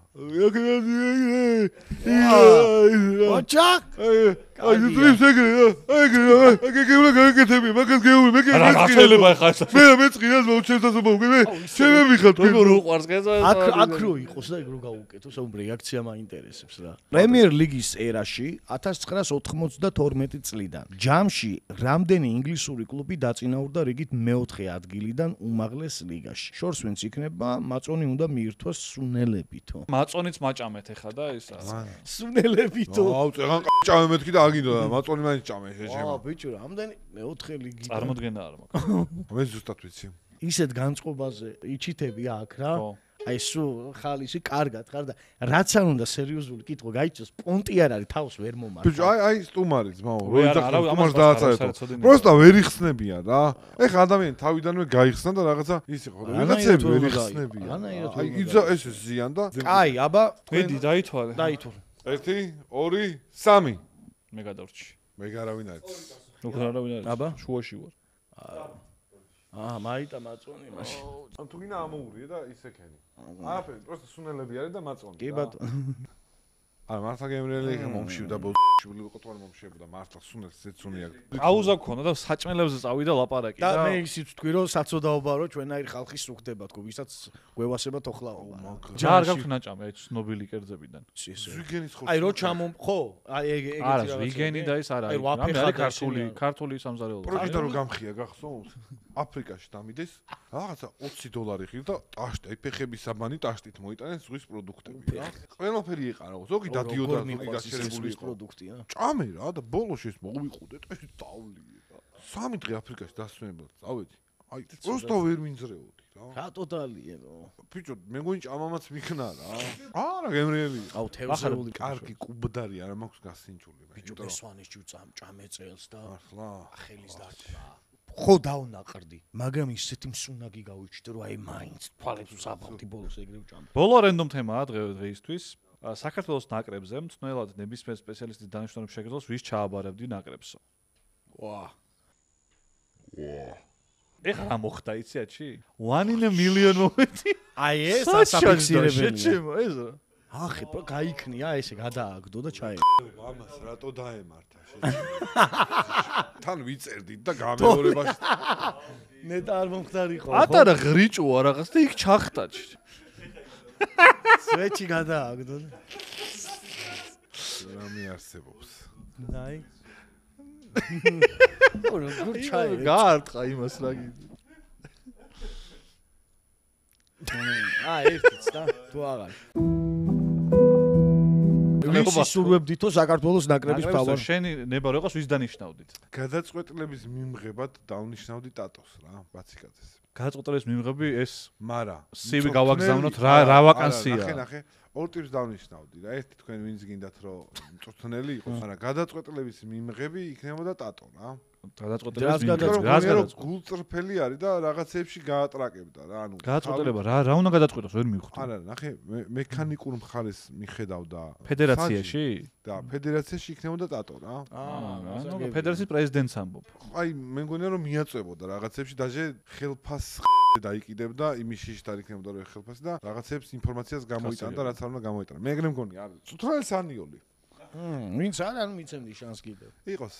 ოჩა? აი ძრის ეგრე რა. ეგრე რა. ეგრე რა გაკეთები, მაგას გეუბნები, მე რა შეიძლება ხა ეს? მე მეწყინას მოუჩენსა მოგე. ჩემები ხარ თქვენ. როგორ უყვარს გეზა? აქ აქ რო იყოს და ეგ რო გაუკეთო, საუბ რეაქცია მაინტერესებს რა. პრემიერ ლიგის ერაში ათას ცხრაას ოთხმოცდათორმეტი წლიდან ჯამში რამდენი ინგლისური კლუბი დაწინაურდა რიგით მეოთხე ადგილიდან უმაღლეს ლიგაში. შორს ვინც იქნება, მაწონი უნდა მიირთვას სუნელებითო. მაწონიც მაჭამეთ ეხა და ისა. სუნელებითო. აუ, წეგან ჭამე მეთქი და აგინდა და მაწონი მაინც ჭამე შეჭემა. აა, ბიჭო, რამდენი მეოთხე ლიგი. წარმოდგენა არ მაქვს. მე ზუსტად ვიცი. ისეთ განწყობაზე იჩითები აქ რა. ხო. აი სულ ხალისი კარგად ხარ და რაც არ უნდა სერიოზული კითხვა გაიჭოს, პონტი არ არის თავს ვერ მომართ. ბიჭო, აი აი სტუმარი ძმაო, ვე, არა, როი არა, და ამას სტუმარს დააწარეთო. საერთოდ პროსტა ვერ იხსნებიან რა. ეხა ადამიანი თავიდანვე გაიხსნა და რაღაცა ის იყო. ვიღაცები ვერ იხსნებიან. აი იძა ეს ზიან და კაი, აბა, მედი დაითვალე. დაითვალე. ერთი, ორი, სამი. მე გადავრჩი. მე გარავინ არის. როგორ არავინ არის? აბა. შუაში ვარ. აა, მაიტა მაწონი მაშინ. ან თუ გინდა ამოურიე და ისე ქენი. აფერი, პროსტა სუნელები არის და მაწონი. კი ბატონო. არა, მართლა გემრიელი მომშივდა ბოშული ყოთვარ მომშევდა მართლა სუნელს ზეცუნი აქვს. აუზა გქონდა და საჭმელებზე წავიდა ლაპარაკი და და მე ისიც თქვი რომ საწოდაობა რომ ჩვენაირი ხალხი სუხდება თქო, ვისაც გვევასება თოხლაობა. ჯა არ გაქვს ნაჭამი აი ცნობილი კერძებიდან. ზვიგენის ხო. აი რო ჩამო, ხო, აი ეგ ეგეთი არა, ვიგენი და ის არა. რამე არის ქართული, ქართული სამზარეულო. პროჟიტა რო გამხია გახსოვს? აფრიკაში დამიდეს, რაღაცა ოცი დოლარი ხილ და ტაშტი, აი ფეხების საბანი ტაშტით მოიტანენ ზღვის პროდუქტები რა. ყველაფერი იყარა, ზოგი დადიოდა, ზოგი გაშერებული იყო. პროდუქტია. ჭამე რა და ბოლოში ეს მოვიყუდე და ეს დავლიე რა. სამი დღე აფრიკაში დასვენებლად წავედი. აი, პროსტა ვერ მინძრეოდი რა. რა ტოტალიეო. ბიჭო, მე მგონი ჭამამაც მიქნა რა. არა, გემრიელი. აუ თევზეული კარგი კუბდარი არა მაქვს გასინჯული. ბიჭო, ესვანის ჯუწამ ჭამე წელს და ახლა ხელის დაკვრა. ხო დავნაყრდი, მაგრამ ისეთი მსუნაგი გავიჩნდა რომ აი მაინც თვალებს უსაბავდი ბოლოს ეგრე ვჭამ. ბოლო რენდომ თემაა დღე დღეისთვის. საქართველოს ნაკრებზე მწნელად ნებისმიერ სპეციალისტის დანიშნულების შეგრძნოს ვის ჩააბარებდი ნაკრებსო. ვა. ვა. ეხლა რა მოხდა იციათში? one in a million მომენტი. აი ეს ასაფიქსირებელია. შეჩემო ეს რა. ახი, გაიქნია ესე გადააგდო და ჩაე. მამას რატო დაემართა თან ვიწერდით და გამეორებაში ნეტა არ მომხდარიყო. ატარა ღრიჭოა რაღაც და იქ ჩახტაჭი. სვეჩი გადააგდო. რა მიარსებობს. დაი. ორი გურ ჩაე. გაარტყა იმას რა გიძ. აა ერთიც და თუ აღარ. ვისი სურვებდითო საქართველოს ნაკრების თავარ. შენი ნება რო იყოს ვის დანიშნავდით? გადაწყვეტილების მიმღებად დავნიშნავდი ტატოს რა, ბაციკაძეს. გადაწყვეტილების მიმღები ეს მარა სივი გავაგზავნოთ რა რა ვაკანსია. ნახე, ნახე. ორ ტიპს დავნიშნავდი რა. ერთი თქვენ ვინც გინდათ რომ მწვრთნელი იყოს, მაგრამ გადაწყვეტილების მიმღები იქნებოდა ტატო რა. გადაწყვეტილების მიმღები რას გადაწყვეტ? გულწრფელი არის და რაღაცეებში გაატრაკებდა რა, ანუ გადაწყვეტილება რა რა უნდა გადაწყვეტოს ვერ მივხვდი. არა, ნახე, მექანიკურ მხარეს მიხედავდა ფედერაციაში? და ფედერაციაში იქნებოდა ტატო რა. აა, ნუ ფედერაციის პრეზიდენტს ამბობ. აი, მე მგონია რომ მიაწევოდა რაღაცეებში დაჟე ხელფას დაიკიდებდა იმის შიშით არ იქნებოდა რომ ხელფასი და რაღაცებს ინფორმაციას გამოიტანდა რაც არ უნდა გამოიტანა. მე ეგრე მგონია, არის. ცუტრალ სანიოლი. მმ, ვინც არ არ მიცემდი შანს კიდევ. იყოს.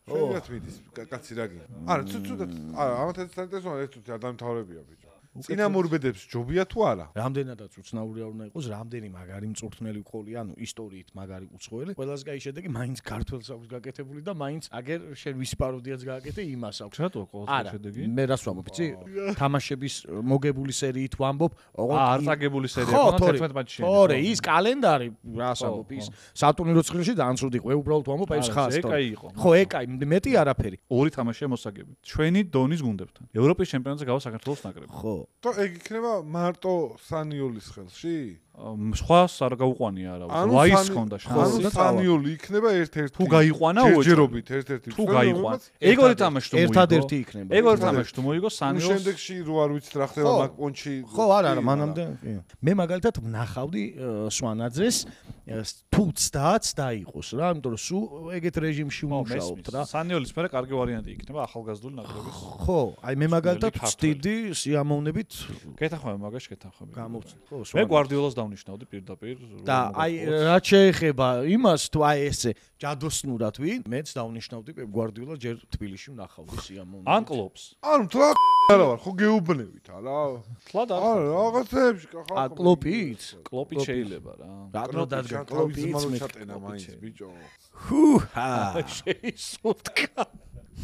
შეიძლება მიდის კაცი რა გინდა. არა, ცუცუდად. არა, ამათ ეს საინტერესოა, ეს თუთი არ დამთავრებია ბიჭო. წინამორბედებს ჯობია თუ არა? რამდენადაც უცნაური არ უნდა იყოს, რამდენი მაგარი მწვრთნელი ვყოლი, ანუ ისტორიით მაგარი უცხოელი, ყველას გაი შედეგი მაინც ქართველს აქვს გაკეთებული და მაინც აგერ შენ ვისი პაროდიაც გააკეთე, იმას აქვს. რატო ყოველთვის შედეგი? მე რას ვამბობ, იცი? თამაშების მოგებული სერიით ვამბობ, აა არ წაგებული სერია ქონდა თერთმეტ მატჩში. თორე, ის კალენდარი, რას ვამბობ, ის სატურნირო ცხრილში ძალიან ცუდი იყო, უბრალოდ ვამბობ ეს ხას. ეკაი იყო. ხო, ეკაი, მეტი არაფერი. ორი თამაშია მოსაგები. ჩვენი დონის გუნდებთან. ევროპის ჩემპიონატზე გავა საქართველოს ნაკრები. ხო. თო ეგ იქნება მარტო სანიოლის ხელში? სხვას არ გაუყვანია არა. ვაის ხონდა შანსი. ანუ სანიოლი იქნება ერთ-ერთი. თუ გაიყვანა ჯერჯერობით ერთ-ერთი. თუ გაიყვან. ეგ ორი თამაში თუ მოიგო. ერთადერთი იქნება. ეგ ორი თამაში თუ მოიგო სანიოლს. შემდეგში რო არ ვიცით რა ხდება მაგ პონჩი. ხო, არა, არა, მანამდე. მე მაგალითად ვნახავდი სვანაძეს თუ ცდაც დაიყოს რა, იმიტომ რომ სულ ეგეთ რეჟიმში ვმუშაობთ რა. სანიოლის მერე კარგი ვარიანტი იქნება ახალგაზრდული ნაკრების. ხო, აი მე მაგალითად ვწდიდი სიამოვნებით გეთანხმები მაგაში გეთანხმები. გამოვწ. ხო, მე გვარდიოლას დავნიშნავდი პირდაპირ. და აი რაც შეეხება იმას თუ აი ესე ჯადოსნურად ვინ, მეც დავნიშნავდი პეპ გვარდიოლა ჯერ თბილისში ვნახავდი სიამოვნებით. ან კლუბს. ანუ თლა არა ვარ, ხო გეუბნებით არა? თლა და არა, რაღაცეებში ხახა. ა კლოპით? კლოპით შეიძლება რა. რატო დადგა კლოპით ჩატენა მაინც ბიჭო. ჰუჰა. შეისურთქა.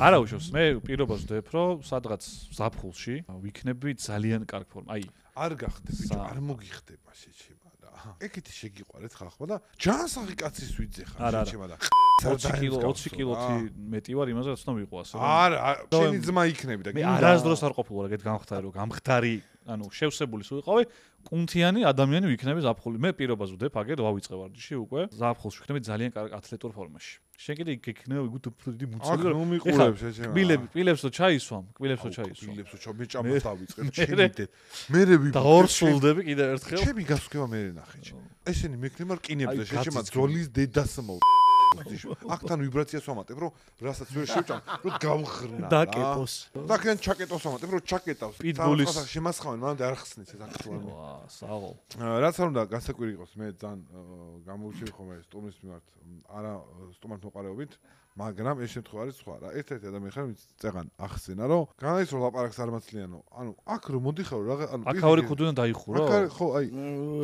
არა უშავს, მე პირობას ვდებ, რომ სადღაც ზაფხულში ვიქნები ძალიან კარგ ფორმა. აი, არ გახდე ბიჭო, არ მოგიხდება შეჩება და. ეგეთი შეგიყვარეთ ხახმა და ჯანსაღი კაცის ვიძე ხარ შეჩება და. ოცი კილოთი მეტი ვარ იმაზე რაც უნდა ვიყო ასე. არა, შენი ძმა იქნები და მე არასდროს არ ყოფილი ვარ ეგეთ გამხდარი, რომ გამხდარი, ანუ შევსებული სულ ვიყავი, კუნთიანი ადამიანი ვიქნები ზაფხული. მე პირობას ვდებ, აგერ ვავიწყე ვარჯიში უკვე. ზაფხულში ვიქნები ძალიან კარგ ათლეტურ ფორმაში. შენ კიდე გეკნევა ვიგოთ უფრო დიდი მუცელი. აქ ნუ მიყურებ შეჩება. კბილები, კბილებს რო ჩაისვამ, კბილებს რო ჩაისვამ. კბილებს რო ჩამე ჭამას დავიწყებ, ჩემიდე. მერე ვიბ. და ორსულდები კიდე ერთხელ. ჩემი გასვქება მერე ნახე. ესენი მექნება რკინებს და შეჩება ძოლის დედას მო. აქთან ვიბრაციას ვამატებ, რომ რასაც ვერ შევჭამ, რომ გავხრნა. დაკეტოს. დაკენ ჩაკეტოს ვამატებ, რომ ჩაკეტავს. პიტბულის შემასხავენ, მანამდე არ ხსნის ეს აქტუალური. ვა, საღო. რაც არ უნდა გასაკვირი იყოს, მე ძალიან გამოვჩევი ხოლმე სტუმრის მიმართ, არა სტუმართ მოყარეობით, მაგრამ ეს შემთხვევა არის სხვა რა. ერთ-ერთი ადამიანი ხარ, ვინც წეგან ახსენა, რომ განაის რომ ლაპარაკს არ მაცლიანო. ანუ აქ რომ მოდიხარო რა, ანუ აქ ორი ქუდიდან დაიხურო. აქ ხო, აი,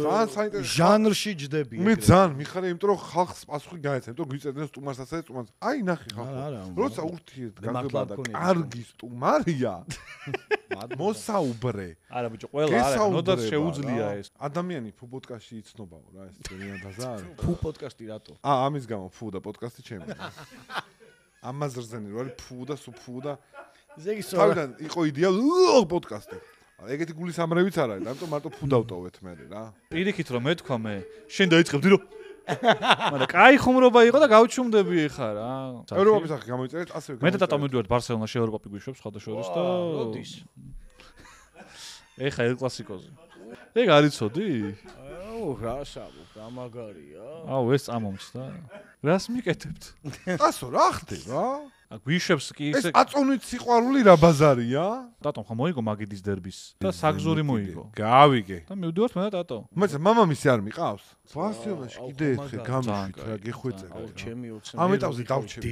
ძალიან საინტერესო ჟანრში ჯდები. მე ძალიან მიხარია, იმიტომ რომ ხალხს პასუხი გაეცემ, იმიტომ გვიწერდნენ სტუმარსაც და სტუმარს. აი, ნახე ხალხო. როცა ურთიერთ გაგება და კარგი სტუმარია. მოსაუბრე. არა ბიჭო, ყველა არა, ნოდაც შეუძლია ეს. ადამიანი ფუ პოდკასტში იცნობაო რა, ეს ძალიან დაზარ. ფუ პოდკასტი რატო? აა, ამის გამო ფუ და პოდკასტი ჩემი. ამაზრზენი რო არის ფუ და სუ ფუ და ზეგი სოლა. თავიდან იყო იდეა პოდკასტი. ეგეთი გულის ამრევიც არ არის, ამიტომ მარტო ფუ დავტოვეთ მე რა. პირიქით რომ მეთქვა მე, შენ დაიწყებდი რომ მაგრამ კაი ხუმრობა იყო და გავჩუმდები ხა რა. ევროპის ახი გამოიწერეთ, ასევე მე და ტატა მივიდივართ ბარსელონაში ევროპა გვიშვებს სხვადასხვა და როდის? ეხა ელ კლასიკოზე. ეგ არ იცოდი? აუ, რა შავო, გამაგარია. აუ, ეს წამომცდა. რას მიკეთებთ? ასო რა ხდება? გვიშვებს კი ეს ისე აწონით სიყვარული რა ბაზარია? ტატომ ხა მოიგო მაგიდის დერბის და საგზური მოიგო. გავიგე. და მივდივართ მე და ტატო. მეც მამამისი არ მიყავს? ბარსელონაში კიდე ერთხე გამიშვით რა გეხვეწება. აუ, ჩემი ოცნები. ამ ეტაპზე დავჩები.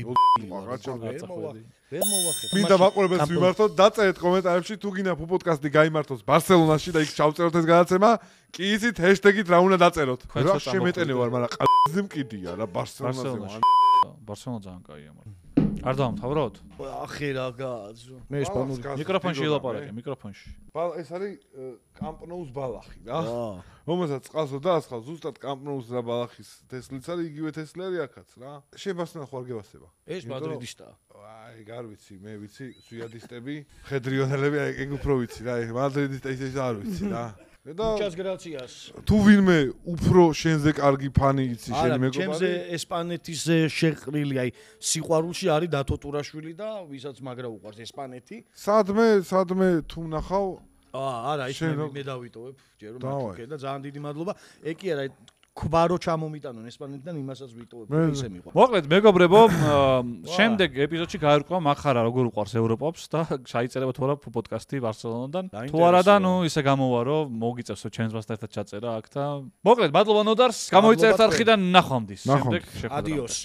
ვერ მოვახერხე. მინდა მაყურებელს ვიმართოთ, დაწერეთ კომენტარებში თუ გინდა ფუ პოდკასტი გაიმართოს ბარსელონაში და იქ ჩავწეროთ ეს გადაცემა, კი იცით ჰეშტეგით რა უნდა დაწეროთ. რა შემეტენე ვარ, მაგრამ ყალზე მკიდია რა ბარსელონაზე. ბარსელონა ძალიან კაია, მაგრამ არ დავამთავროთ? ახი რა გააძო. მე ესპანური მიკროფონში ელაპარაკე, მიკროფონში. ეს არის კამპნოუს ბალახი რა. რომელსაც წყალსო დაასხავ, ზუსტად კამპნოუს რა ბალახის თესლიც არის, იგივე თესლი არის აქაც რა. შენ ხო არ გევასება? ეს მადრიდისტაა. აი, გარ ვიცი, მე ვიცი, სუიადისტები, ხედრიონელები, აი ეგ უფრო ვიცი რა, მადრიდისტი ის არ ვიცი რა. და ჩას გრაციას. თუ ვინმე უფრო შენზე კარგი ფანი იცი შენი მეგობარი? ჩემზე ესპანეთის შეყრილი, აი სიყვარულში არის დათო ტურაშვილი და ვისაც მაგრა უყვარს ესპანეთი. სადმე, სადმე თუ ნახავ? აა, არა, ის მე დავიტოვებ, ჯერ რომ მათქე და ძალიან დიდი მადლობა. ეგ კი არა, ქვარო ჩამომიტანონ ესპანეთიდან იმასაც ვიტოვებ, ისე მიყვარს. მოკლედ, მეგობრებო, შემდეგ ეპიზოდში გაირკვა მაგხარა როგორ უყვარს ევროპავს და ჩაიწერება თუ არა პოდკასტი ბარსელონიდან. თუ არა და ნუ ისე გამოვა რომ მოგიწევსო ჩემს ერთად ჩაწერა აქ და მოკლედ, მადლობა ნოდარს, გამოიწერეთ არხიდან ნახვამდის. შემდეგ შეხვედრა. ადიოს.